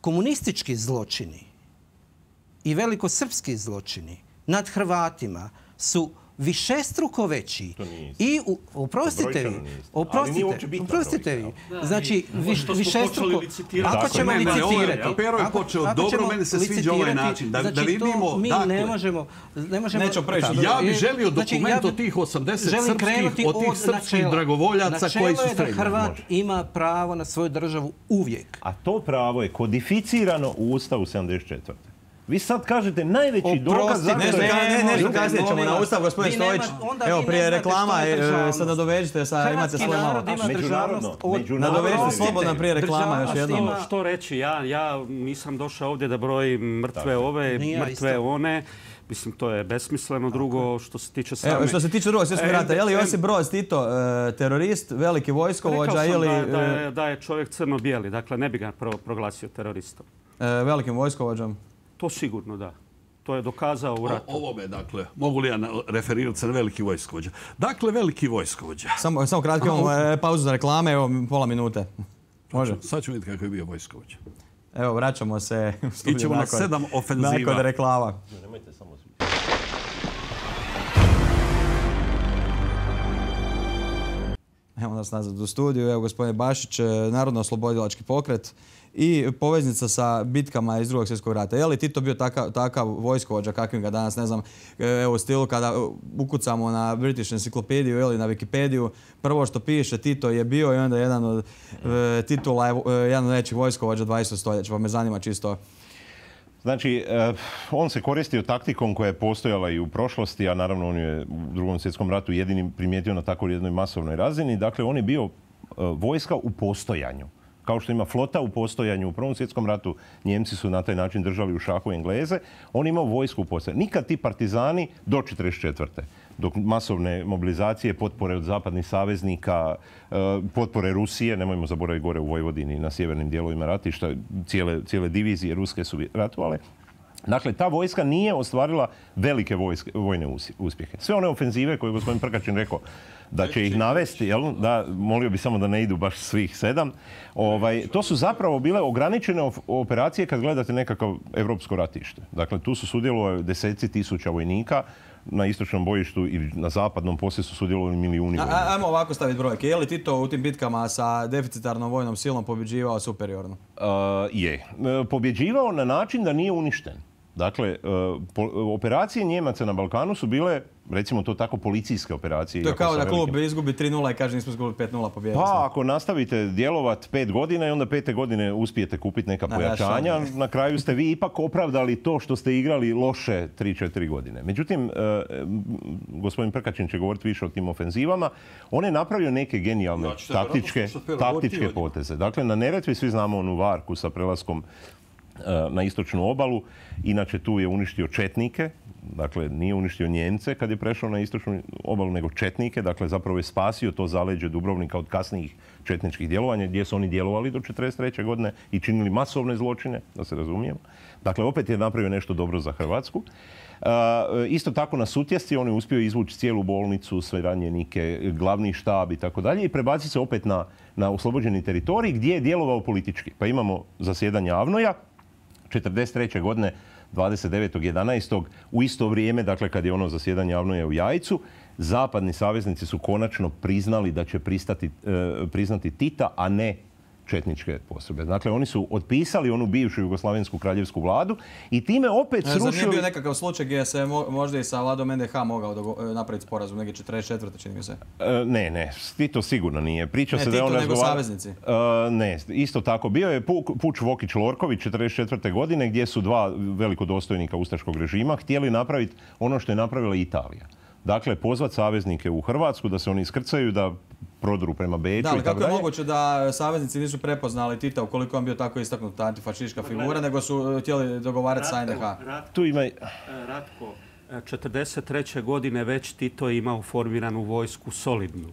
komunistički zločini i velikosrpski zločini nad Hrvatima su višestruko veći. I oprostite vi, oprostite, oprostite vi. Znači, višestruko, ako ćemo licitirati, Pero je počeo dobro, meni se sviđa ovaj način. Da vidimo, mi ne možemo... Ja bih želio dokument od tih osamdeset srpskih, od tih srpskih dragovoljaca koji su streljeni. Načelo je da Hrvat ima pravo na svoju državu uvijek. A to pravo je kodificirano u Ustavu sedamdeset četvrte Vi sad kažete najveći dokaz... Ne, ne, nešto kasnije ćemo na Ustav, gospodin Stojić. Evo, prije reklama, sad nadovežite, imate svoje malo. Međunarodno. Nadovežite slobodno prije reklama još jednom. Što reći, ja nisam došao ovdje da brojim mrtve ove, mrtve one. Mislim, to je besmisleno. Drugo, što se tiče same... Evo, što se tiče drugog svjetskog rata, je li Josip Broz Tito terorist, veliki vojskovođa ili... Rekao sam da je čovjek crno-bijeli, dakle ne bi ga proglasio teroristom. Velikim vojskovođom? To sigurno da. To je dokazao u ratu. Ovome, dakle, mogu li ja referirati se na veliki vojskovođa? Dakle, veliki vojskovođa. Samo, samo kratko imamo pauzu za reklame, evo pola minute. Može? Sad ću vidjeti kako je bio vojskovođa. Evo, vraćamo se u studiju. Ićemo na sedam ofenziva. Nakon reklama. Nemojte samo svi. Evo nas nazad u studiju. Evo, gospodine Bašić, Narodno-oslobodilački pokret i poveznica sa bitkama iz drugog svjetskog rata. Je li Tito bio takav, takav vojskovođa kakvim ga danas, ne znam, evo u stilu kada ukucamo na British Encyclopediju ili na Wikipediju, prvo što piše Tito je bio i onda jedan od e, titula, je, jedan od najvećih vojskovođa dvadesetog stoljeća, pa me zanima čisto. Znači, on se koristio taktikom koja je postojala i u prošlosti, a naravno on je u drugom svjetskom ratu jedini primijetio na tako jednoj masovnoj razini. Dakle, on je bio vojska u postojanju. Kao što ima flota u postojanju u Prvom svjetskom ratu, Njemci su na taj način držali u šahu Engleze, on imao vojsku u postojanju. Nikad ti partizani do četrdeset četvrte dok masovne mobilizacije, potpore od zapadnih saveznika, potpore Rusije, nemojmo zaboraviti gore u Vojvodini, na sjevernim dijelovima ratišta, cijele, cijele divizije ruske su ratovale. Dakle, ta vojska nije ostvarila velike vojske, vojne uspjehe. Sve one ofenzive koje je gospodin Prkačin rekao, da će ih navesti, jel? Da, molio bi samo da ne idu baš svih sedam. Ovaj, to su zapravo bile ograničene operacije kad gledate nekakav evropsko ratište. Dakle, tu su sudjelovali deseci tisuća vojnika, na istočnom bojištu i na zapadnom poslije su sudjelovali milijuni vojnika. Ajmo ovako staviti brojke. Je li Tito u tim bitkama sa deficitarnom vojnom silom pobjeđivao superiorno? Uh, je. Pobjeđivao na način da nije uništen. Dakle, operacije Njemaca na Balkanu su bile, recimo to tako, policijske operacije. To je kao da klub izgubi tri nula i kaže nismo izgubili pet nula pobjedili. Pa ako nastavite djelovat pet godina i onda pete godine uspijete kupiti neka pojačanja, na kraju ste vi ipak opravdali to što ste igrali loše tri četiri godine. Međutim, gospodin Prkačin će govoriti više o tim ofenzivama. On je napravio neke genijalne taktičke, taktičke poteze. Dakle, na Neretvi svi znamo onu varku sa prelaskom na istočnu obalu. Inače, tu je uništio četnike. Dakle, nije uništio Njemce kad je prešao na istočnu obalu, nego četnike. Dakle, zapravo je spasio to zaleđe Dubrovnika od kasnijih četničkih djelovanja, gdje su oni djelovali do četrdeset treće godine i činili masovne zločine, da se razumijemo. Dakle, opet je napravio nešto dobro za Hrvatsku. Uh, isto tako na Sutjesci on je uspio izvući cijelu bolnicu, sve ranjenike, glavni štab i tako dalje i prebaciti se opet na, na oslobođeni teritorij gdje je djelovao politički. Pa imamo zasjedanje Avnoja, četrdeset treće godine, dvadeset devetog jedanaestog u isto vrijeme, dakle kad je ono zasjedanje Avnoja u Jajcu, zapadni saveznici su konačno priznali da će pristati, e, priznati Tita, a ne četničke postrojbe. Dakle, oni su otpisali onu bivšu jugoslavensku kraljevsku vladu i time opet srušili... Zar nije bio nekakav slučaj gdje se možda i sa vladom en de ha mogao napraviti sporazum, neke četrdeset četvrte čini mi se? E, ne, ne, Tito sigurno nije. Priča ne se Tito, da on nego razgovara... saveznici? E, ne, isto tako. Bio je puč Vokić-Lorković četrdeset četvrte godine gdje su dva velikodostojnika ustaškog režima htjeli napraviti ono što je napravila Italija. Dakle, pozvati saveznike u Hrvatsku da se oni iskrcaju, da prodru prema Beču. Da, ali kako je moguće da saveznici nisu prepoznali Tita ukoliko on bio tako istaknuta antifašistička figura, nego su htjeli dogovarati sa en de ha? Tu ima... Ratko, četrdeset treće godine već Tito je imao formiranu vojsku solidnu.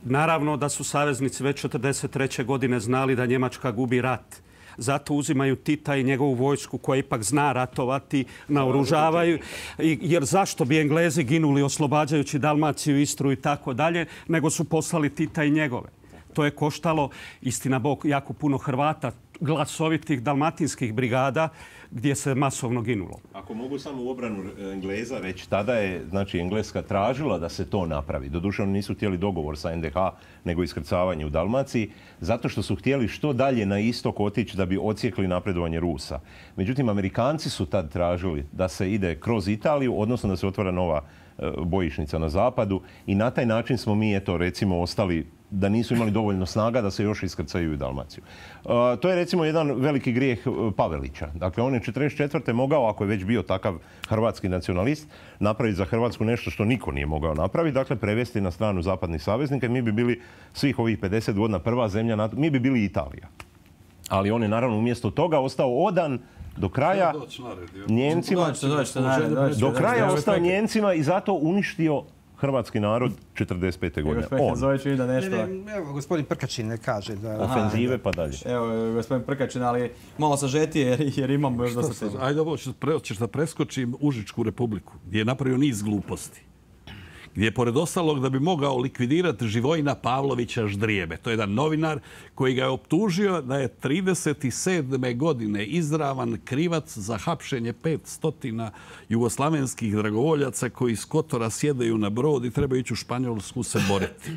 Naravno da su saveznici već četrdeset treće godine znali da Njemačka gubi rat. Zato uzimaju Tita i njegovu vojsku koja ipak zna ratovati, naoružavaju. Jer zašto bi Englezi ginuli oslobađajući Dalmaciju, Istru i tako dalje, nego su poslali Tita i njegove. To je koštalo, istina Bog, jako puno Hrvata, glasovitih dalmatinskih brigada gdje se masovno ginulo. Ako mogu samo u obranu Engleza reći, tada je znači, Engleska tražila da se to napravi. Doduše, oni nisu htjeli dogovor sa en de ha, nego iskrcavanje u Dalmaciji, zato što su htjeli što dalje na istok otići da bi ocijekli napredovanje Rusa. Međutim, Amerikanci su tad tražili da se ide kroz Italiju, odnosno da se otvara nova bojišnica na zapadu i na taj način smo mi, eto, recimo, ostali da nisu imali dovoljno snaga da se još iskrcaju u Dalmaciju. Uh, to je recimo jedan veliki grijeh Pavelića. Dakle, on je četrdeset četvrte mogao, ako je već bio takav hrvatski nacionalist, napraviti za Hrvatsku nešto što niko nije mogao napraviti, dakle prevesti na stranu zapadnih saveznika i mi bi bili svih ovih pedeset godina prva zemlja, mi bi bili Italija. Ali on je naravno umjesto toga ostao odan do kraja Njemcima, do kraja ostao Njemcima i zato uništio hrvatski narod četrdeset pete godine. On. Evo, gospodin Prkačin ne kaže da... Ofenzive pa dalje. Evo, gospodin Prkačin, ali malo sažetije jer, jer imamo još dosta tema. Ajde, ovo ćeš da preskočim Užičku republiku, gdje je napravio niz gluposti. Gdje je, pored ostalog, da bi mogao likvidirati Živojina Pavlovića Ždrijebe. To je jedan novinar koji ga je optužio da je trideset sedme godine izravan krivac za hapšenje petsto jugoslavenskih dragovoljaca koji s Kotora sjedaju na brod i trebaju ići u Španjolsku se boriti.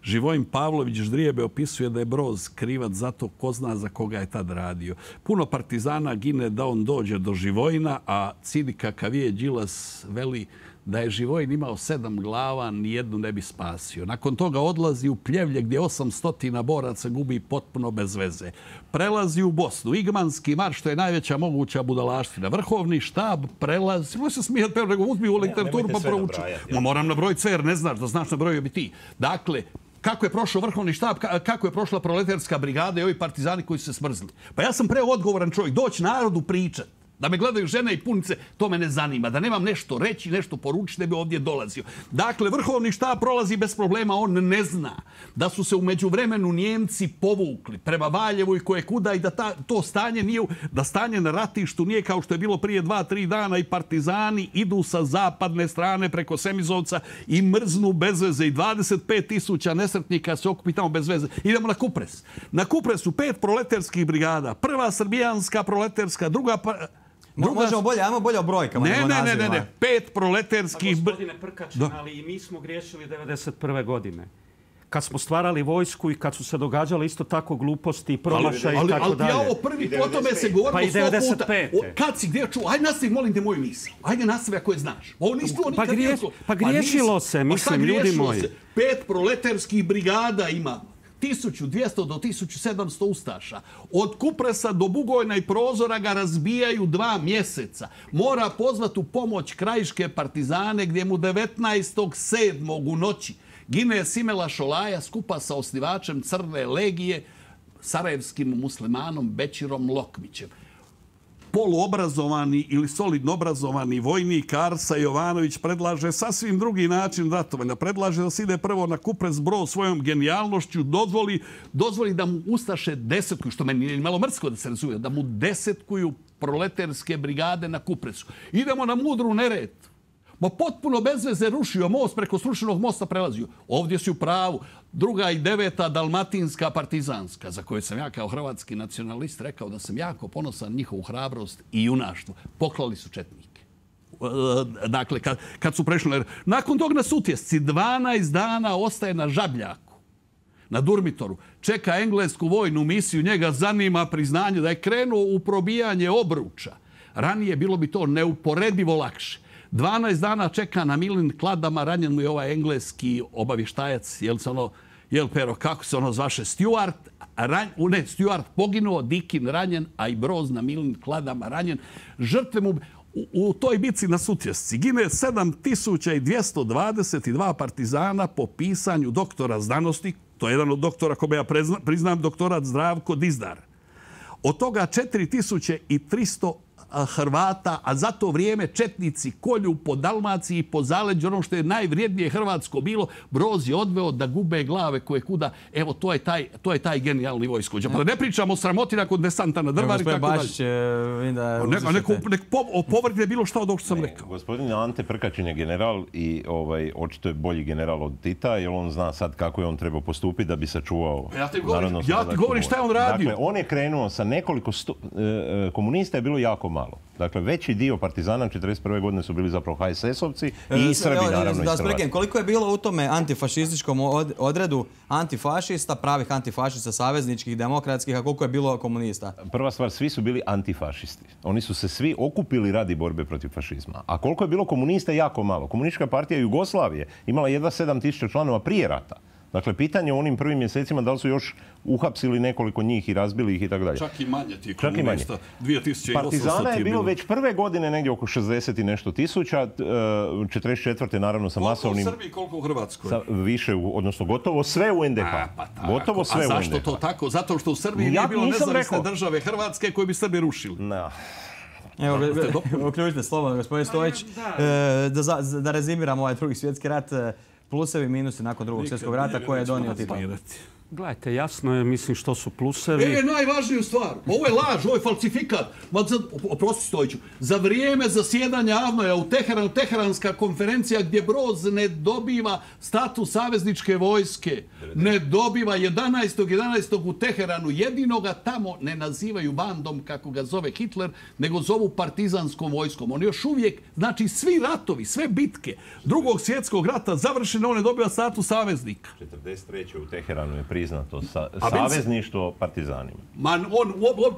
Živojin Pavlović Ždrijebe opisuje da je Broz krivac zato ko zna za koga je tad radio. Puno partizana gine da on dođe do Živojina, a Cidi Kakavije Đilas veli da je Živojin imao sedam glava, nijednu ne bi spasio. Nakon toga odlazi u Pljevlje gdje osamsto boraca gubi potpuno bez veze. Prelazi u Bosnu. Igmanski marš, što je najveća moguća budalaština. Vrhovni štab prelazi. Može se smijati, nego uzmi u literaturu pa prouči. Ma moram nabrojiti jer ne znaš da znaš nabrojio bi ti. Dakle, kako je prošao vrhovni štab, kako je prošla proletarska brigada i ovi partizani koji su se smrzli. Pa ja sam preo odgovoran čovjek. Doći narodu pričat. Da me gledaju žene i punice, to me ne zanima. Da nemam nešto reći, nešto poručiti, da bi ovdje dolazio. Dakle, vrhovni štab prolazi bez problema, on ne zna da su se u međuvremenu Njemci povukli prema Valjevu i koje kuda i da ta, to stanje nije, da stanje na ratištu nije kao što je bilo prije dva, tri dana i partizani idu sa zapadne strane preko Semizovca i mrznu bez veze i dvadeset pet tisuća nesretnika se okupi tamo bez veze. Idemo na Kupres. Na Kupresu pet proletarskih brigada. Prva srbijanska proletarska, druga... Pa, druga... Možemo bolje, ajmo bolje o brojkama. Ne, ne, ne, ne, ne. Pet proletarskih... Pa gospodine Prkačin, ali i mi smo griješili devedeset prve godine. Kad smo stvarali vojsku i kad su se događale isto tako gluposti i promašaj i tako dalje. Ali ja ovo prvi, o tome se govorilo pa i devedeset pete. Kad si gdje čuo? Ajde nastavi, molim te, moju misl. Ajde nastavi ako je znaš. Ovo nisi čuo nikad. Pa, griješ, pa griješilo se, mislim, ljudi moji. Pet proletarskih brigada imamo. tisuću dvjesto do tisuću sedamsto ustaša. Od Kupresa do Bugojna i Prozora ga razbijaju dva mjeseca. Mora pozvati u pomoć krajiške partizane gdje mu devetnaestog sedmog u noći gine Simela Šolaja skupa sa osnivačem Crne legije, sarajevskim muslimanom Bećirom Lokmićem. Poluobrazovani ili solidno obrazovani vojnik Arsa Jovanović predlaže sasvim drugi način ratovanja. Predlaže da se ide prvo na Kupres Brod svojom genijalnošću, dozvoli, dozvoli da mu ustaše desetkuju, što meni je malo mrsko da se razumije, da mu desetkuju proletarske brigade na Kupresu. Idemo na Mudru Neretvu. Ma potpuno bez veze rušio most, preko srušenog mosta prelazio. Ovdje si u pravu. Druga i deveta dalmatinska partizanska, za koju sam ja kao hrvatski nacionalist rekao da sam jako ponosan njihovu hrabrost i junaštvo. Poklali su četnike. Dakle, kad, kad su prešli... Nakon tog na Sutjesci dvanaest dana ostaje na Žabljaku, na Durmitoru. Čeka englesku vojnu misiju, njega zanima priznanje da je krenuo u probijanje obruča. Ranije bilo bi to neuporedivo lakše. dvanaest dana čeka na Milin Kladama, ranjen mu je ovaj engleski obavještajac, jel se ono, jel Pero, kako se ono zvaše, Stuart, ran, ne, Stuart poginuo, Dikin ranjen, a i Broz na Milin Kladama ranjen. Žrtve mu u, u toj bici na Sutjesci gine sedam tisuća dvjesto dvadeset dva partizana po pisanju doktora znanosti, to je jedan od doktora kome ja priznam, doktorat Zdravko Dizdar. Od toga četiri tisuće tristo Hrvata, a za to vrijeme četnici kolju po Dalmaciji i po zaleđu, ono što je najvrijednije hrvatsko bilo, Broz je odveo da gube glave koje kuda. Evo, to je taj, to je taj genijalni vojskovođa. Pa da ne pričamo o sramoti nakon desanta na Drvari. Gospodin Bašić, nek opovrgne bilo što od ovog što sam rekao. Gospodin Ante Prkačin je general i ovaj, očito je bolji general od Tita, jer on zna sad kako je on trebao postupiti da bi sačuvao narodno. Ja ti govorim šta je on radio. Dakle, on je krenuo sa nekoliko sto, e, komunista je bilo jako malo. Dakle, veći dio partizana četrdeset prve godine su bili zapravo ha es es-ovci i Srbi, naravno, iz Hrvatske. Koliko je bilo u tome antifašističkom odredu antifašista, pravih antifašista, savezničkih, demokratskih, a koliko je bilo komunista? Prva stvar, svi su bili antifašisti. Oni su se svi okupili radi borbe protiv fašizma. A koliko je bilo komunista, jako malo. Komunistička partija Jugoslavije imala jedva sedam tisuća članova prije rata. Dakle, pitanje u onim prvim mjesecima da li su još uhapsili nekoliko njih i razbili ih i tako dalje. Čak i manje ti komunista. dvije tisuće osamsto Partizana je bilo, bilo već prve godine negdje oko šezdeset i nešto tisuća. četrdeset četvrte naravno sa masovnim... Koliko u Srbiji, koliko u Hrvatskoj? Sa više, odnosno gotovo sve u en de ha. A, pa tako. Gotovo sve A u en de ha. zašto to tako? Zato što u Srbiji nije bilo nezavisne države Hrvatske koje bi Srbi rušili. No. Evo, uključite slobodno, gospodin Stojić. Da, da rezimiramo ovaj drugi svjetski rat, plusevi i minusi nakon drugog svjetskog rata koje je donio Tito. Gledajte, jasno je, mislim, što su plusevi. E, najvažniju stvar. Ovo je laž, ovo je falsifikat. Oprosti Stojiću. Za vrijeme zasjedanja Avnoja u Teheranu, Teheranska konferencija gdje Broz ne dobiva status savezničke vojske, ne dobiva jedanaestog jedanaestog u Teheranu. Jedinoga tamo ne nazivaju bandom, kako ga zove Hitler, nego zovu partizanskom vojskom. On još uvijek, znači svi ratovi, sve bitke drugog svjetskog rata završene, on ne dobiva status saveznika. četrdeset treće u Teheranu je priznato sa, savezništvo partizanima. Man, on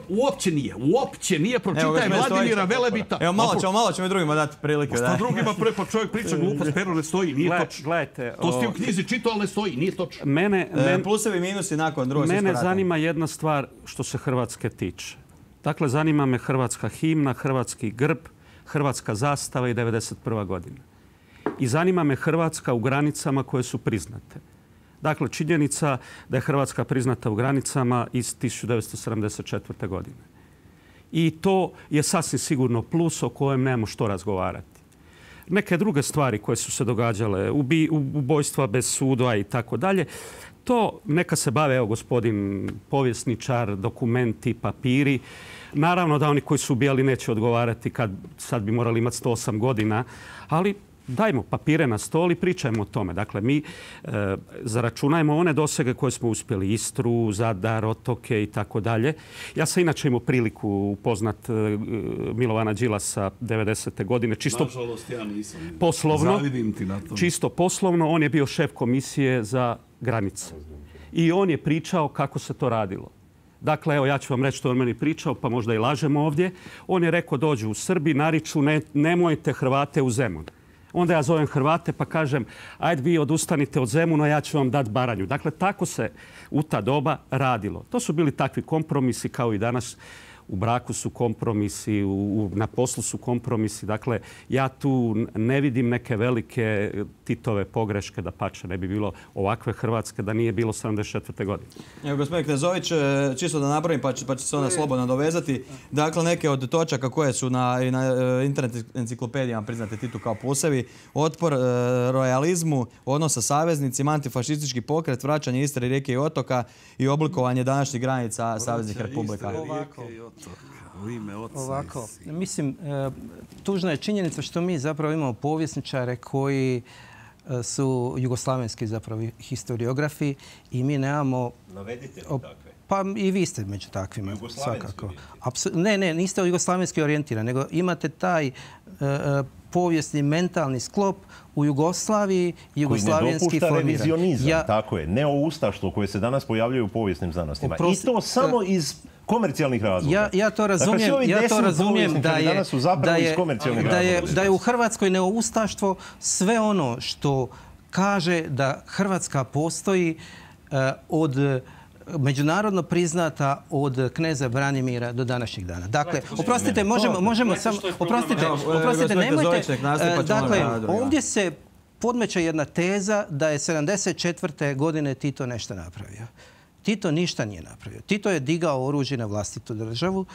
uopće nije. Uopće nije. Pročitaj Vladimira Velebita. Evo, malo ćemo, malo ćemo i drugima dati prilike. Što drugima pre, pa čovjek priča glupost, Pero ne stoji. Nije točno. Gledajte. To ste u knjizi čitao, ali ne stoji. Nije točno. Mene, men, plusevi i minusi nakon drugog svjetskog rata. Mene zanima jedna stvar što se Hrvatske tiče. Dakle, zanima me hrvatska himna, hrvatski grb, hrvatska zastava i devedeset prva godina. I zanima me Hrvatska u granicama koje su priznate. Dakle, činjenica da je Hrvatska priznata u granicama iz tisuću devetsto sedamdeset četvrte godine. I to je sasvim sigurno plus o kojem nemamo što razgovarati. Neke druge stvari koje su se događale, ubi, ubojstva bez suda i tako dalje, to neka se bave, evo, gospodin povjesničar, dokumenti, papiri. Naravno da oni koji su ubijali neće odgovarati kad sad bi morali imati sto osam godina, ali dajmo papire na stol i pričajmo o tome. Dakle, mi e, zaračunajmo one dosege koje smo uspjeli. Istru, Zadar, otoke i tako dalje. Ja sam inače imao priliku upoznat e, Milovana Đilasa devedesete godine. Čisto nažalost, ja nisam. Poslovno. Zavidim ti na tom. Čisto poslovno. On je bio šef komisije za granice. I on je pričao kako se to radilo. Dakle, evo, ja ću vam reći što on meni pričao, pa možda i lažemo ovdje. On je rekao, dođu u Srbiji, nariču, ne, nemojte Hrvate u Zemun. Onda ja zovem Hrvate pa kažem, ajde vi odustanite od Zemuna, ja ću vam dati Baranju. Dakle, tako se u ta doba radilo. To su bili takvi kompromisi kao i danas. U braku su kompromisi, u, na poslu su kompromisi. Dakle, ja tu ne vidim neke velike Titove pogreške, da pače ne bi bilo ovakve Hrvatske da nije bilo sedamdeset četvrte godine. Evo, gospodin Knezović, čisto da napravim pa će, pa će se onda slobodno dovezati. Dakle, neke od točaka koje su na, i na internet enciklopedijama priznate Titu kao pusevi, otpor e, rojalizmu, odnos sa saveznicima, antifašistički pokret, vraćanje Istre, rijeke i otoka i oblikovanje današnjih granica saveznih republika. U ime oca. Ovako, mislim, tužna je činjenica što mi zapravo imamo povjesničare koji su jugoslavenski zapravo historiografi i mi nemamo... Navedite mi takve. Pa i vi ste među takvima. Jugoslavenski Apsu, ne, ne, niste jugoslavenski orijentirani, nego imate taj uh, povijesni, mentalni sklop u Jugoslaviji, jugoslavenski formiran. Koji ne dopušta revizionizam, ja, tako je, neoustaštvo koje se danas pojavljaju u povijesnim znanostima. Oprosti, I to samo iz komercijalnih razloga. Ja, ja to razumijem, dakle, ja to razumijem da je, da, je, da, je, da je u Hrvatskoj neoustaštvo sve ono što kaže da Hrvatska postoji uh, od međunarodno priznata od kneza Branimira do današnjeg dana. Dakle, oprostite, možemo, možemo samo, oprostite, oprostite, nemojte, dakle, ovdje se podmeće jedna teza da je sedamdeset četvrte godine Tito nešto napravio. Tito ništa nije napravio. Tito je digao oružje na vlastitu državu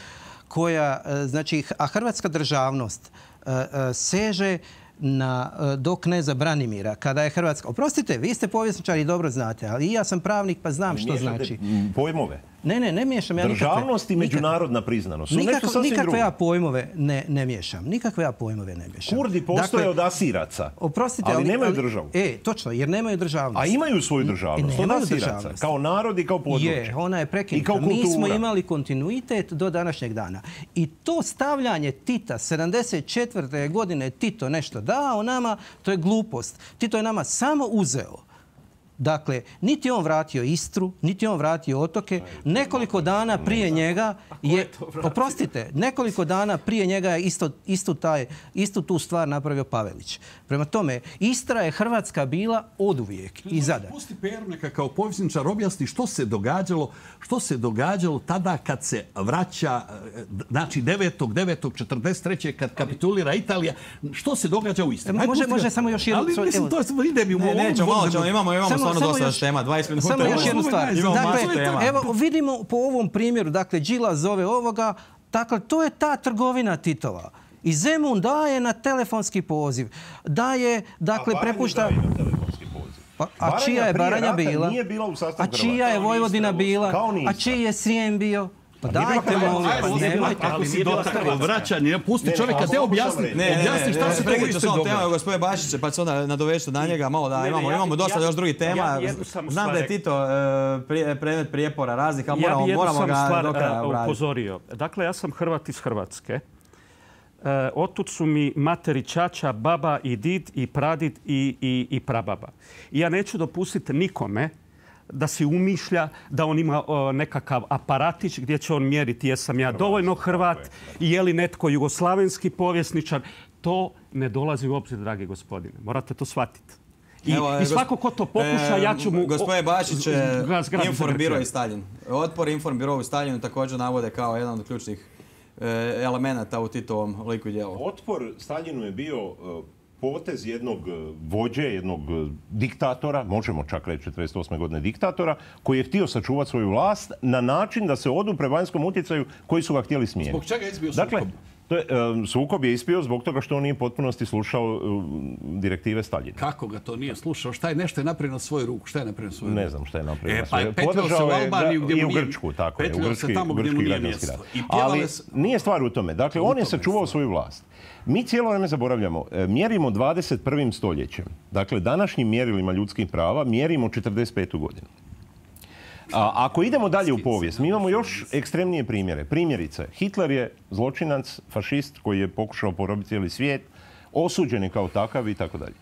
koja, znači, a hrvatska državnost seže na, do kneza Branimira, kada je Hrvatska... Oprostite, vi ste povjesničari i dobro znate, ali i ja sam pravnik pa znam što znači. Pojmove. Ne, ne, ne miješam ja nikakve... Državnost i međunarodna priznanost su nikakve, nešto sasvim drugo. Nikakve ja pojmove ne, ne miješam. Nikakve ja pojmove ne miješam. Kurdi postoje dakle, od Asiraca, oprostite, ali, ali nemaju ali, državu. E, točno, jer nemaju državnost. A imaju svoju državnost od Asiraca, kao narod i kao područje. Je, ona je prekinuta. Mi smo imali kontinuitet do današnjeg dana. I to stavljanje Tita, sedamdeset četvrte godine Tito nešto dao nama, to je glupost. Tito je nama samo uzeo. Dakle, niti on vratio Istru, niti on vratio otoke. Nekoliko dana prije njega je, oprostite, nekoliko dana prije njega je isto, isto taj, istu tu stvar napravio Pavelić. Prema tome, Istra je Hrvatska bila oduvijek i Zadar. Pusti Peru neka kao povjesničar objasni što se događalo, što se događalo tada kad se vraća, znači devetog devetog četrdeset treće kad kapitulira Italija, što se događa u Istri? Može, može samo još jedno. Ali mislim, to ide mi u ovom... Nećemo, malo ćemo, imamo, imamo stvarno dosta još tema, dvadeset minuta. Samo još jednu stvar. Dakle, evo, vidimo po ovom primjeru, dakle, Đilas zove ovoga, dakle, to je ta trgovina Titova. I Zemun daje na telefonski poziv. Daje, dakle, prepušta... Pa, a čija je Baranja bila? A čija je Vojvodina bila? A čiji je Srijem bio? Pa dajte, molim, pa nemojte. Ali si dotakao vraćanje, pusti čovjeka, te objasni. Objasni šta se to u Istri događa. Gospodine Bašiće, pa se onda nadoveću na njega malo da imamo, imamo dosta još drugih tema. Znam da je Tito predmet prijepora raznih, ali moramo ga do kraja obraditi. Upozorio. Dakle, ja sam Hrvat iz Hrvatske. Otud su mi materi, ćaća, baba i did i pradid i, i, i prababa. I ja neću dopustiti nikome da si umišlja da on ima o, nekakav aparatić gdje će on mjeriti jesam ja dovoljno Hrvat i je li netko jugoslavenski povjesničar. To ne dolazi u obzir, dragi gospodine. Morate to shvatiti. I, Evo, i svako ko to pokuša, e, ja ću mu... Gospodine Bašić, Informbiro i Staljin. Otpor Informbiro i Staljinu također navode kao jedan od ključnih e, elemenata u Titovom liku i djelu. Otpor Staljinu je bio... potez jednog vođe, jednog diktatora, možemo čak reći četrdeset osme godine diktatora, koji je htio sačuvati svoju vlast na način da se odupre vanjskom utjecaju koji su ga htjeli smijeniti. Zbog čega je izbio sukob? Dakle, to je, um, sukob je ispio zbog toga što on nije potpunosti slušao um, direktive Staljina. Kako ga to nije slušao? Šta je nešto je napravio na svoju ruku? Šta je napravio na svoju ruku? Ne znam šta je napravio e, na svoju ruku. E, pa petljao se u Albaniju gdje mu nije... nije... I u Grčku, tako je. Petljao se tamo gdje mu nije mjesto. Ali nije stvar u tome. Dakle, on je sačuvao svoju vlast. Mi cijelo vrijeme zaboravljamo, mjerimo dvadeset prvim stoljećem. Dakle, današnjim mjerilima ljudskih prava mjerimo četrdeset petu godinu. A, ako idemo dalje u povijest, mi imamo još ekstremnije primjere. Primjerice, Hitler je zločinac, fašist koji je pokušao porobiti cijeli svijet, osuđen je kao takav i tako dalje.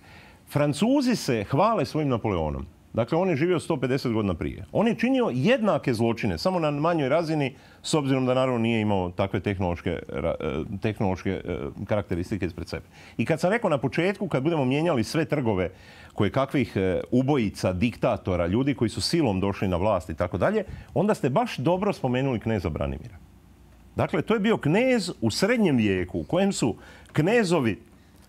Francuzi se hvale svojim Napoleonom. Dakle, on je živio sto pedeset godina prije. On je činio jednake zločine, samo na manjoj razini, s obzirom da naravno nije imao takve tehnološke, tehnološke karakteristike ispred sebe. I kad sam rekao na početku, kad budemo mijenjali sve trgove koje kakvih ubojica, diktatora, ljudi koji su silom došli na vlast i tako dalje, onda ste baš dobro spomenuli kneza Branimira. Dakle, to je bio knez u srednjem vijeku u kojem su knezovi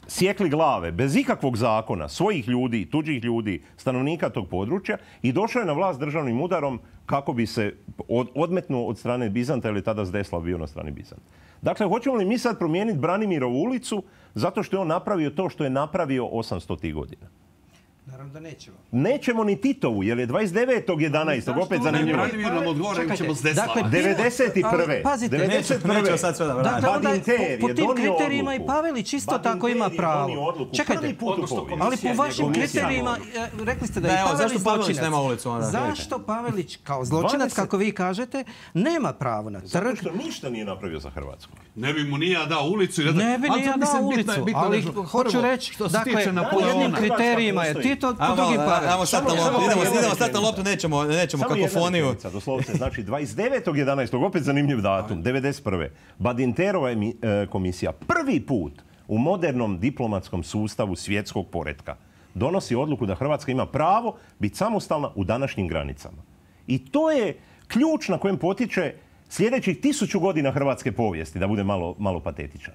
sjekli glave bez ikakvog zakona svojih ljudi, tuđih ljudi, stanovnika tog područja i došao je na vlast državnim udarom kako bi se od, odmetnuo od strane Bizanta, jer je tada Zdeslav bio na strani Bizanta. Dakle, hoćemo li mi sad promijeniti Branimirovu ulicu zato što je on napravio to što je napravio osamsto godina? Naravno da nećemo. Nećemo ni Titovu, jer je dvadeset devetog jedanaestog opet zanimljivo. Branimir nam odgovore, ćemo s Deslava. devedeset prve. Pazite, devedeset prve. Dakle, onda po tim kriterijima i Pavelić isto tako ima pravo. Čekajte, ali po vašim kriterijima, rekli ste da je Pavelić zločinac. Zašto Pavelić kao zločinac, kako vi kažete, nema pravo na trg? Zato što ništa nije napravio za Hrvatsku. Ne bi mu nije dao ulicu. Ne bi nije dao ulicu, ali hoću reći, dakle, po jednim kriterijima je Tito, po drugim Pavelić. Ajmo sad na loptu, idemo sad na loptu, nećemo, nećemo kakofoniju. Doslovce, znači dvadeset devetog jedanaestog opet zanimljiv datum, devedeset prve. Badinterova je komisija prvi put u modernom diplomatskom sustavu svjetskog poretka donosi odluku da Hrvatska ima pravo biti samostalna u današnjim granicama. I to je ključ na kojem potiče sljedećih tisuću godina hrvatske povijesti, da bude malo, malo patetičan.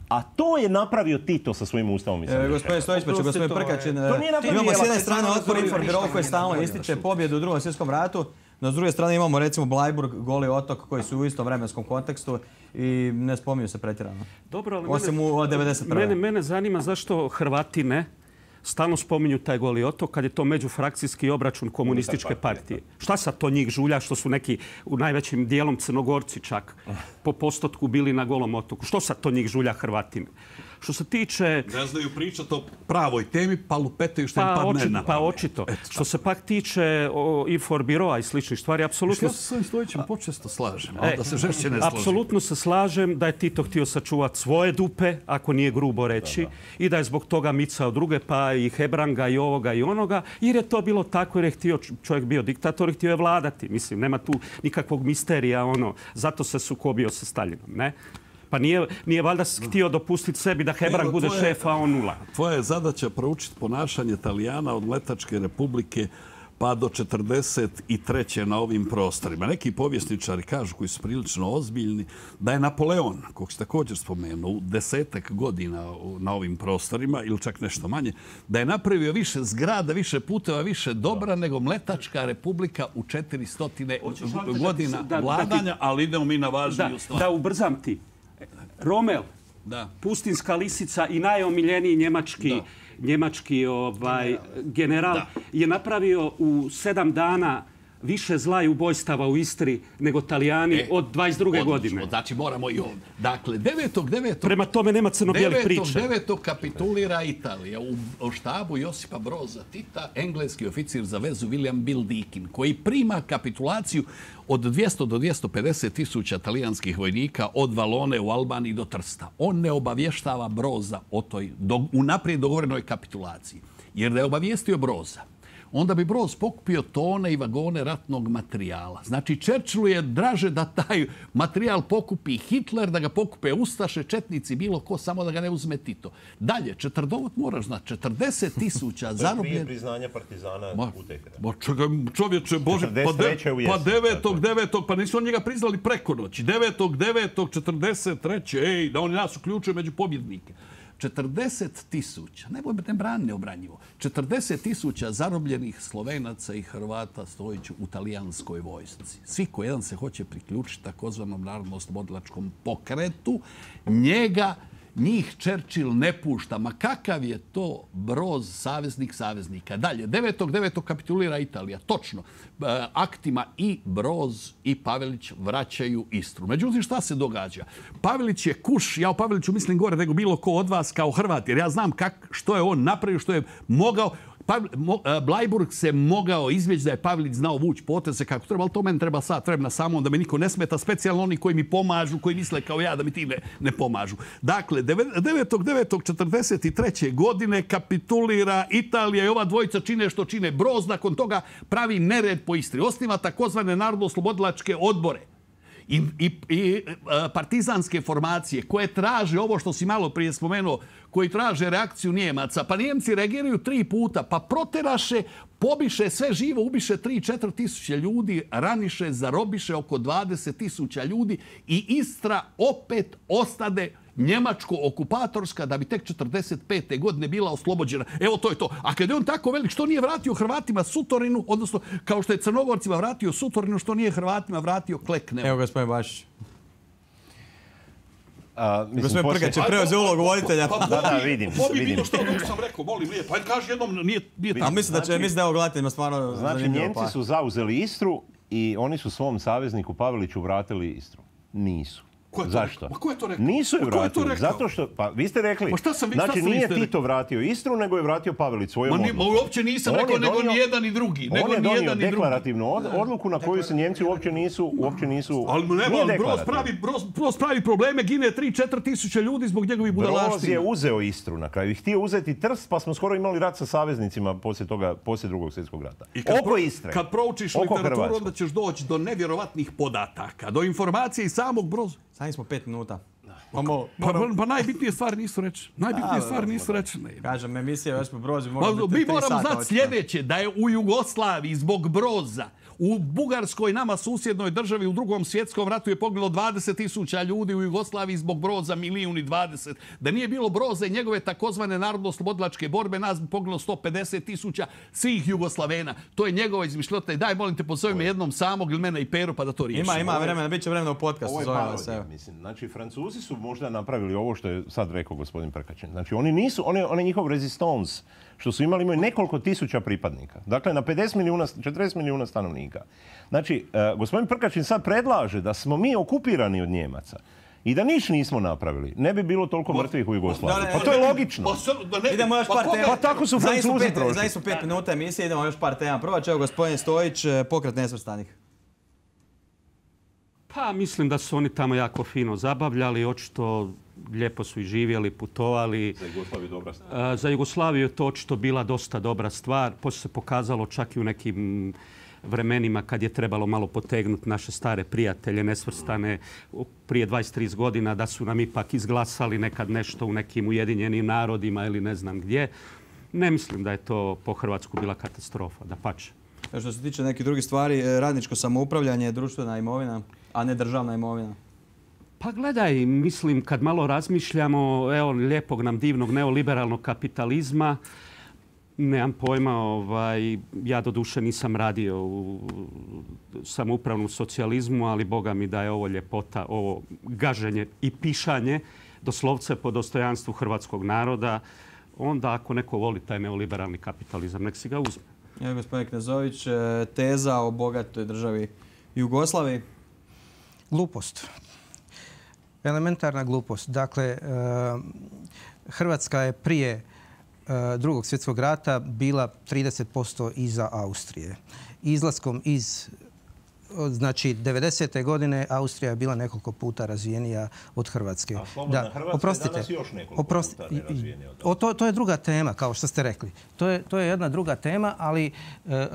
A to je napravio Tito sa svojim ustavom. E, gospodin Stojić, pa će gospodin Prkačin. Imamo s jedne strane Otpor Infobiro koji stalno ističe pobjedu u Drugom svjetskom ratu, no s druge strane imamo recimo Blajburg, Goli otok koji su u istom vremenskom kontekstu i ne spominju se pretjerano. Dobro, ali osim mene, u devedeset prve. Mene, mene zanima zašto Hrvati ne stalno spominju taj Goli otok kad je to međufrakcijski obračun komunističke partije. Šta sad to njih žulja što su neki u najvećim dijelom Crnogorci čak po postotku bili na Golom otoku? Što sad to njih žulja Hrvatine? Što se tiče... Ne znaju pričati o pravoj temi, pa lupetaju što im pa padne na. Pa očito. Što se pak tiče Inforbiroa i sličnih stvari, apsolutno... Ja se s ovim Stojićem počesto slažem, ali da se žešće ne slažem. Apsolutno se slažem da je Tito htio sačuvati svoje dupe, ako nije grubo reći, da, da. I da je zbog toga micao druge, pa i Hebranga i ovoga i onoga, jer je to bilo tako jer je htio, čovjek bio diktator i htio je vladati. Mislim, nema tu nikakvog misterija, ono, zato se sukobio sa Staljinom, ne? Pa nije, nije valjda htio dopustiti sebi da Hebrang bude šef, a on nula. Tvoja je zadaća proučiti ponašanje Italijana od Mletačke republike pa do četrdeset treće na ovim prostorima. Neki povjesničari kažu, koji su prilično ozbiljni, da je Napoleon, kog se također spomenuo, u desetak godina na ovim prostorima, ili čak nešto manje, da je napravio više zgrada, više puteva, više dobra nego Mletačka republika u četiristo godina da, vladanja, da ti, ali idemo mi na važniju stvar. Da ubrzam ti. Rommel, da. Pustinska lisica i najomiljeniji njemački, da. njemački ovaj, general, da. je napravio u sedam dana više zla i ubojstava u Istri nego Talijani e, od dvadeset druge godine. Znači moramo i ovdje. Dakle, devetog devetog Prema tome nema crno-bijeli priče. devetog devetog kapitulira Italija u štabu Josipa Broza Tita, engleski oficir za vezu William Bill Deakin, koji prima kapitulaciju od dvjesto do dvjesto pedeset tisuća talijanskih vojnika od Valone u Albaniji do Trsta. On ne obavještava Broza o toj do, unaprijed dogovorenoj kapitulaciji. Jer da je obavijestio Broza, onda bi Broz pokupio tone i vagone ratnog materijala. Znači, Churchillu je draže da taj materijal pokupi Hitler, da ga pokupe Ustaše, četnici, bilo ko, samo da ga ne uzme Tito. Dalje, četrdovot moraš znati, četrdeset tisuća zarobljen... Prije priznanja partizana u Teheranu. Ma čovječe, Bože, pa, de, pa devetog devetog pa nisu on njega priznali preko noći. devetog devetog četrdeset treće ej, da oni nas uključuju među pobjednike. četrdeset tisuća, ne brani neobranjivo, četrdeset tisuća zarobljenih Slovenaca i Hrvata stojići u talijanskoj vojsci. Svi ko jedan se hoće priključiti takozvanom narodno-oslobodilačkom pokretu, njega njih Churchill ne pušta. Ma kakav je to Broz saveznik saveznika? Dalje, devetog devetog kapitulira Italija. Točno. Aktima i Broz i Pavelić vraćaju Istru. Međutim, šta se događa? Pavelić je kuš, ja o Paveliću mislim gore nego bilo ko od vas kao Hrvat, jer ja znam kak, što je on napravio, što je mogao. Blajburg se mogao izbjeći da je Pavelić znao vući poteze kako treba, ali to meni treba sad, treba samo da me niko ne smeta, specijalno oni koji mi pomažu, koji misle kao ja da mi ti ne, ne pomažu. Dakle, devetog devetog četrdeset treće godine kapitulira Italija i ova dvojica čine što čine. Broz nakon toga pravi nered po Istri. Osniva takozvane narodno-oslobodilačke odbore i, i, i partizanske formacije koje traže ovo što si malo prije spomenuo, koji traže reakciju Nijemaca. Pa Nijemci reagiraju tri puta, pa proteraše, pobiše sve živo, ubiše tri do četiri tisuće ljudi, raniše, zarobiše oko dvadeset tisuća ljudi i Istra opet ostade njemačko-okupatorska da bi tek četrdeset pete godine bila oslobođena. Evo to je to. A kad je on tako velik, što nije vratio Hrvatima Sutorinu, odnosno kao što je Crnogorcima vratio Sutorinu, što nije Hrvatima vratio Klekne? Evo, gospodin Bašić. Gospodin Prkač je preuzeo ulogu voditelja. Da, da, vidim. Pobi bilo što sam rekao, molim lijepo. Ajde, kaži jednom, nije tako. Mislim da će, mislim da je ovo gledateljima stvarno zanimljivo. Znači, Njemci su zauzeli Istru i oni su svom savezniku Paveliću vratili Istru. Nisu. Zašto? Ma ko je to rekao? Nisu je vratili. To zato što, pa vi ste rekli, pa šta sam, znači šta sam nije Tito rekao? Vratio Istru, nego je vratio Pavelić svojom odlukom. odlukom. Ma uopće nisam on rekao, donio, nego ni jedan ni drugi. On je donio deklarativnu od, odluku na koju se Njemci uopće nisu, uopće nisu, ali nema, ali Broz pravi, Broz, Broz pravi probleme, gine tri do četiri tisuće ljudi zbog njegovih budalaština. Broz je uzeo Istru na kraju i htio uzeti Trst, pa smo skoro imali rat sa saveznicima poslije toga, poslije drugog svjetskog rata. I kad oko pro, Istre. Kad proučiš literaturu, onda ćeš doći do nevjerovatnih podataka, do informacije i samog Broza. Sami smo pet minuta. Pa, pa, pa, pa najbitnije stvari nisu rečene. Najbitnije stvari nisu rečene. Kažem, emisija Josip Broz može biti mi moramo znati sljedeće, da je u Jugoslaviji zbog Broza, u Bugarskoj, nama susjednoj državi, u drugom svjetskom ratu je poginulo dvadeset tisuća ljudi, u Jugoslaviji zbog Broza milijun i dvadeset. Da nije bilo Broza i njegove takozvane narodno-oslobodilačke borbe, nas bi poginulo sto pedeset tisuća svih Jugoslavena. To je njegova izmišljota. I daj, molim te, pozove me jednom samog ili mene i Peru pa da to riješimo. Ima, ima vremena, bit će vremena u podcastu. Ovo je parodija, mislim. Znači, Francuzi su možda napravili ovo što je sad rekao gospodin Prkačin. Znači, oni nisu, oni, oni njihov rezistons, što su imali, imaju nekoliko tisuća pripadnika. Dakle, na pedeset milijuna, četrdeset milijuna stanovnika. Znači, uh, gospodin Prkačin sad predlaže da smo mi okupirani od Njemaca i da niš nismo napravili. Ne bi bilo toliko mrtvih u Jugoslaviji. Pa to je logično. Idemo još par tema. Pa tako su Francuzi prošli. Znači su pet minuta emisije, idemo još par tema. Prva će, evo, gospodin Stojić, pokret nesvrstanih. Pa mislim da su oni tamo jako fino zabavljali, očito lijepo su i živjeli, putovali. Za Jugoslaviju dobra stvar. Za Jugoslaviju je to očito bila dosta dobra stvar. Poslije se pokazalo čak i u nekim vremenima kad je trebalo malo potegnuti naše stare prijatelje nesvrstane prije dvadeset do trideset godina da su nam ipak izglasali nekad nešto u nekim Ujedinjenim narodima ili ne znam gdje. Ne mislim da je to po Hrvatsku bila katastrofa, dapače. Što se tiče nekih drugih stvari, radničko samoupravljanje, društvena imovina, a ne državna imovina. Pa gledaj, mislim, kad malo razmišljamo, evo, lijepog nam divnog neoliberalnog kapitalizma, nemam pojma, ovaj, ja do duše nisam radio u samoupravnom socijalizmu, ali Boga mi da je ovo ljepota, ovo gaženje i pišanje doslovce po dostojanstvu hrvatskog naroda, onda ako neko voli taj neoliberalni kapitalizam, nek si ga uzme. Evo, gospodin Knezović, teza o bogatoj državi Jugoslaviji. Glupost. Elementarna glupost. Dakle, Hrvatska je prije drugog svjetskog rata bila trideset posto iza Austrije. Izlaskom iz, znači, devedesete godine Austrija je bila nekoliko puta razvijenija od Hrvatske. A slobodna da, Hrvatska oprostite, je danas još nekoliko oprostite, puta nerazvijenija od toga. To, to je druga tema, kao što ste rekli. To je, to je jedna druga tema, ali e,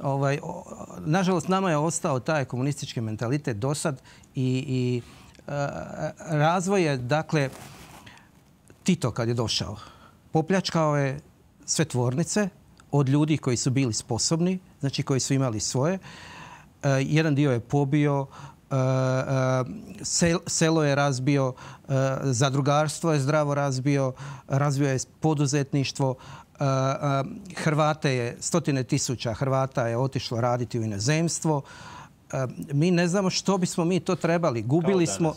ovaj, o, nažalost nama je ostao taj komunistički mentalitet dosad i, i e, razvoj je, dakle, Tito kad je došao, popljačkao je sve tvornice od ljudi koji su bili sposobni, znači koji su imali svoje. E, jedan dio je pobio, selo je razbio, zadrugarstvo je zdravo razbio, razvio je poduzetništvo. Hrvate je, stotine tisuća Hrvata je otišlo raditi u inozemstvo. Mi ne znamo što bismo mi to trebali. Gubili smo...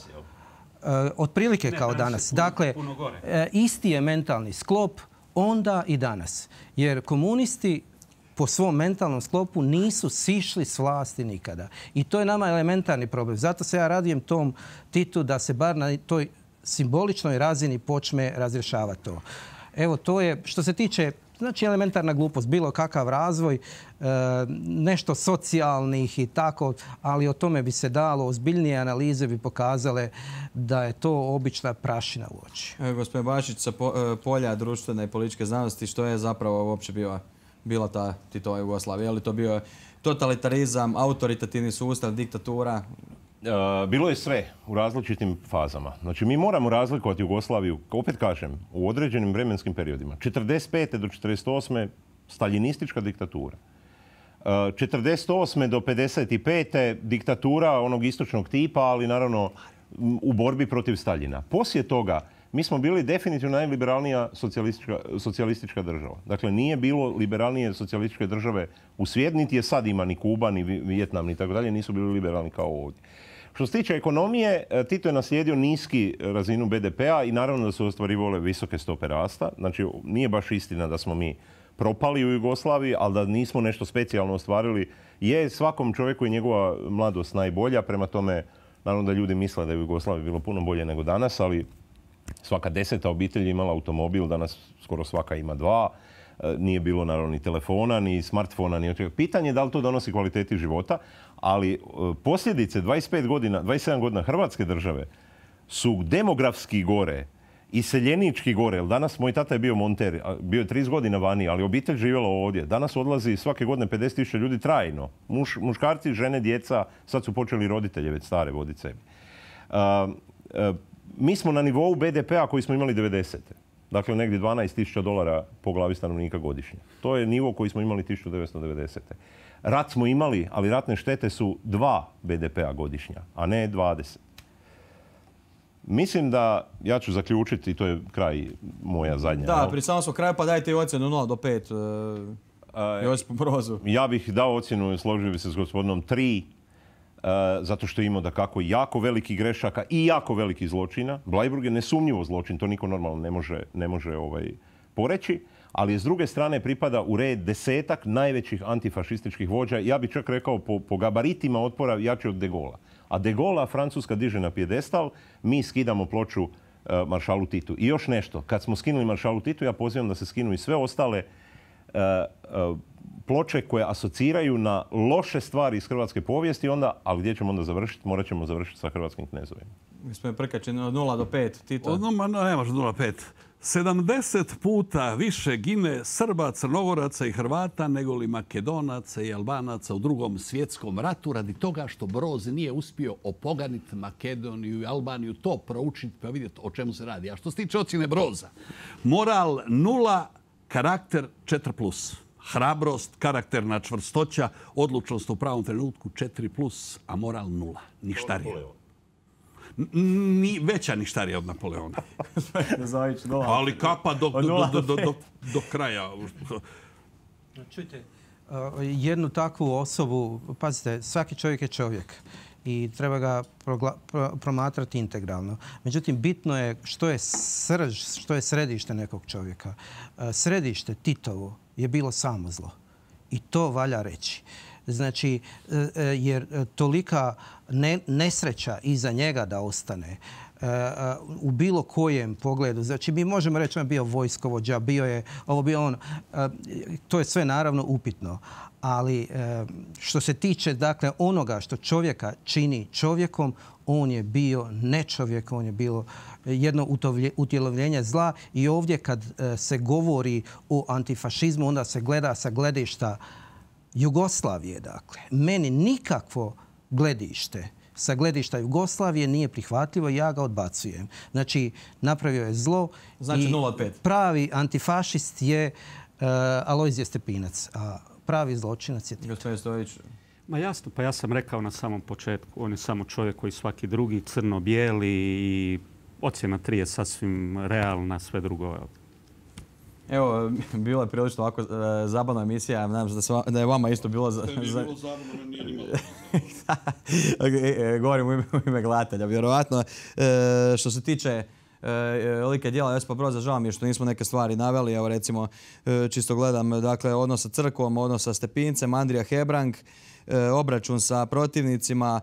Otprilike kao danas. Dakle, isti je mentalni sklop onda i danas. Jer komunisti po svom mentalnom sklopu nisu sišli s vlasti nikada. I to je nama elementarni problem. Zato se ja radujem tom Titu da se bar na toj simboličnoj razini počne razrješavati to. Evo, to je, što se tiče, znači elementarna glupost, bilo kakav razvoj, nešto socijalnih i tako, ali o tome bi se dalo, ozbiljnije analize bi pokazale da je to obična prašina u oči. Evo, gospodin Bašić, sa polja društvene i političke znanosti, što je zapravo uopće bila, bila ta Titova Jugoslavija? Je li to bio totalitarizam, autoritativni sustav, diktatura? Bilo je sve u različitim fazama. Znači, mi moramo razlikovati Jugoslaviju, opet kažem, u određenim vremenskim periodima. četrdeset pete do četrdeset osme staljinistička diktatura. četrdeset osme do pedeset pete diktatura onog istočnog tipa, ali naravno u borbi protiv Staljina. Poslije toga mi smo bili definitivno najliberalnija socijalistička, socijalistička država. Dakle, nije bilo liberalnije socijalističke države u svijetu, niti je sad ima ni Kuba, ni Vijetnam, ni tako dalje, nisu bili liberalni kao ovdje. Što se tiče ekonomije, Tito je naslijedio niski razinu be de pea i naravno da su ostvarivale visoke stope rasta. Znači, nije baš istina da smo mi propali u Jugoslaviji, ali da nismo nešto specijalno ostvarili. Je svakom čovjeku i njegova mladost najbolja, prema tome, naravno da ljudi misle da je u Jugoslaviji bilo puno bolje nego danas, ali svaka deseta obitelj imala automobil, danas skoro svaka ima dva. Nije bilo naravno ni telefona, ni smartfona, ni očega. Pitanje je da li to donosi kvaliteti života, ali posljedice dvadeset pet godina, dvadeset sedam godina Hrvatske države su demografski gore, iseljenički gore. Jer danas moj tata je bio monter, bio je trideset godina vani, ali obitelj živjela ovdje. Danas odlazi svake godine pedeset tisuća ljudi trajno. Muš, muškarci, žene, djeca, sad su počeli roditelje već stare voditi sebi. Uh, uh, mi smo na nivou be de pea koji smo imali devedesete. Dakle, negdje dvanaest tisuća dolara po glavi stanovnika godišnje. To je nivo koji smo imali tisuću devetsto devedesete. Rat smo imali, ali ratne štete su dva be de pea godišnja, a ne dvadeset. Mislim da, ja ću zaključiti, to je kraj moja zadnja. Da, pri samom smo kraju, pa dajte i ocjenu nula do pet. Uh, Josipu Brozu. Ja bih dao ocjenu, složio bi se s gospodinom tri, uh, zato što je imao da kako jako veliki grešaka i jako veliki zločina. Bleiburg je nesumnjivo zločin, to niko normalno ne može, ne može ovaj, poreći. Ali s druge strane pripada u red desetak najvećih antifašističkih vođa. Ja bih čak rekao po, po gabaritima otpora jači od De Gaulea. A De Gaulea Francuska diže na pijedestal, mi skidamo ploču uh, maršalu Titu. I još nešto, kad smo skinuli maršalu Titu, ja pozivam da se skinu i sve ostale uh, uh, ploče koje asociraju na loše stvari iz hrvatske povijesti, onda, ali gdje ćemo onda završiti? Morat ćemo završiti sa hrvatskim knezovima. Gospodin Prkač, od nula do pet, Tito. No, ma, no, ne može nula do pet. sedamdeset puta više gine Srba, Crnogoraca i Hrvata nego li Makedonaca i Albanaca u drugom svjetskom ratu radi toga što Broz nije uspio opoganiti Makedoniju i Albaniju, to proučiti pa vidjeti o čemu se radi. A što se tiče ocjene Broza, moral nula, karakter četiri plus. Hrabrost, karakterna čvrstoća, odlučnost u pravom trenutku četiri plus, a moral nula. Ništarija. Ni veća ništarija od Napoleona. Ali kapa do, do, do, do, do, do kraja. Čujte, jednu takvu osobu, pazite, svaki čovjek je čovjek i treba ga progla, pro, promatrati integralno. Međutim, bitno je što je srž, što je središte nekog čovjeka. Središte Titovo je bilo samo zlo. I to valja reći. Znači, jer tolika ne, nesreća iza njega da ostane u bilo kojem pogledu. Znači, mi možemo reći on je bio vojskovođa, bio je, ovo bio on, to je sve naravno upitno. Ali što se tiče dakle, onoga što čovjeka čini čovjekom, on je bio ne čovjek, on je bilo jedno utjelovljenje zla. I ovdje kad se govori o antifašizmu, onda se gleda sa gledišta Jugoslavije, dakle. Meni nikakvo gledište sa gledišta Jugoslavije nije prihvatljivo i ja ga odbacujem. Znači, napravio je zlo. Znači nula od pet. Pravi antifašist je uh, Alojzije Stepinac, a pravi zločinac je Tito. Gospodin Stojić. Ma jasno, pa ja sam rekao na samom početku, on je samo čovjek koji svaki drugi, crno-bijeli i ocjena tri je sasvim realna, sve drugo. Evo, bilo je prilično ovako zabavna emisija, nadam se da je vama isto bilo... To je bilo zabavno, nije ni malo. Govorim u ime gledatelja, vjerovatno. Što se tiče like djela Josipa Broza, žao mi je što nismo neke stvari naveli. Evo recimo, čisto gledam, dakle, odnos sa crkvom, odnos sa Stepincem, Andrija Hebrang, obračun sa protivnicima,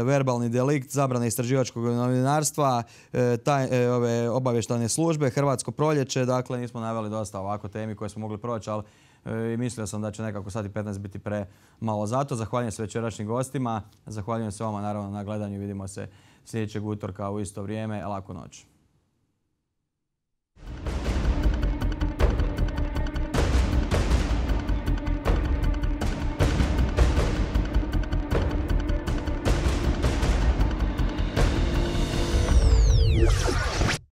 verbalni delikt, zabrana istraživačkog novinarstva, taj, ove obavještajne službe, Hrvatsko proljeće. Dakle, nismo naveli dosta ovako temi koje smo mogli proći, ali i mislio sam da će nekako sat i petnaest biti pre malo zato. Zahvaljujem se večerašnjim gostima, zahvaljujem se vama naravno na gledanju. Vidimo se sljedećeg utorka u isto vrijeme. Laku noć.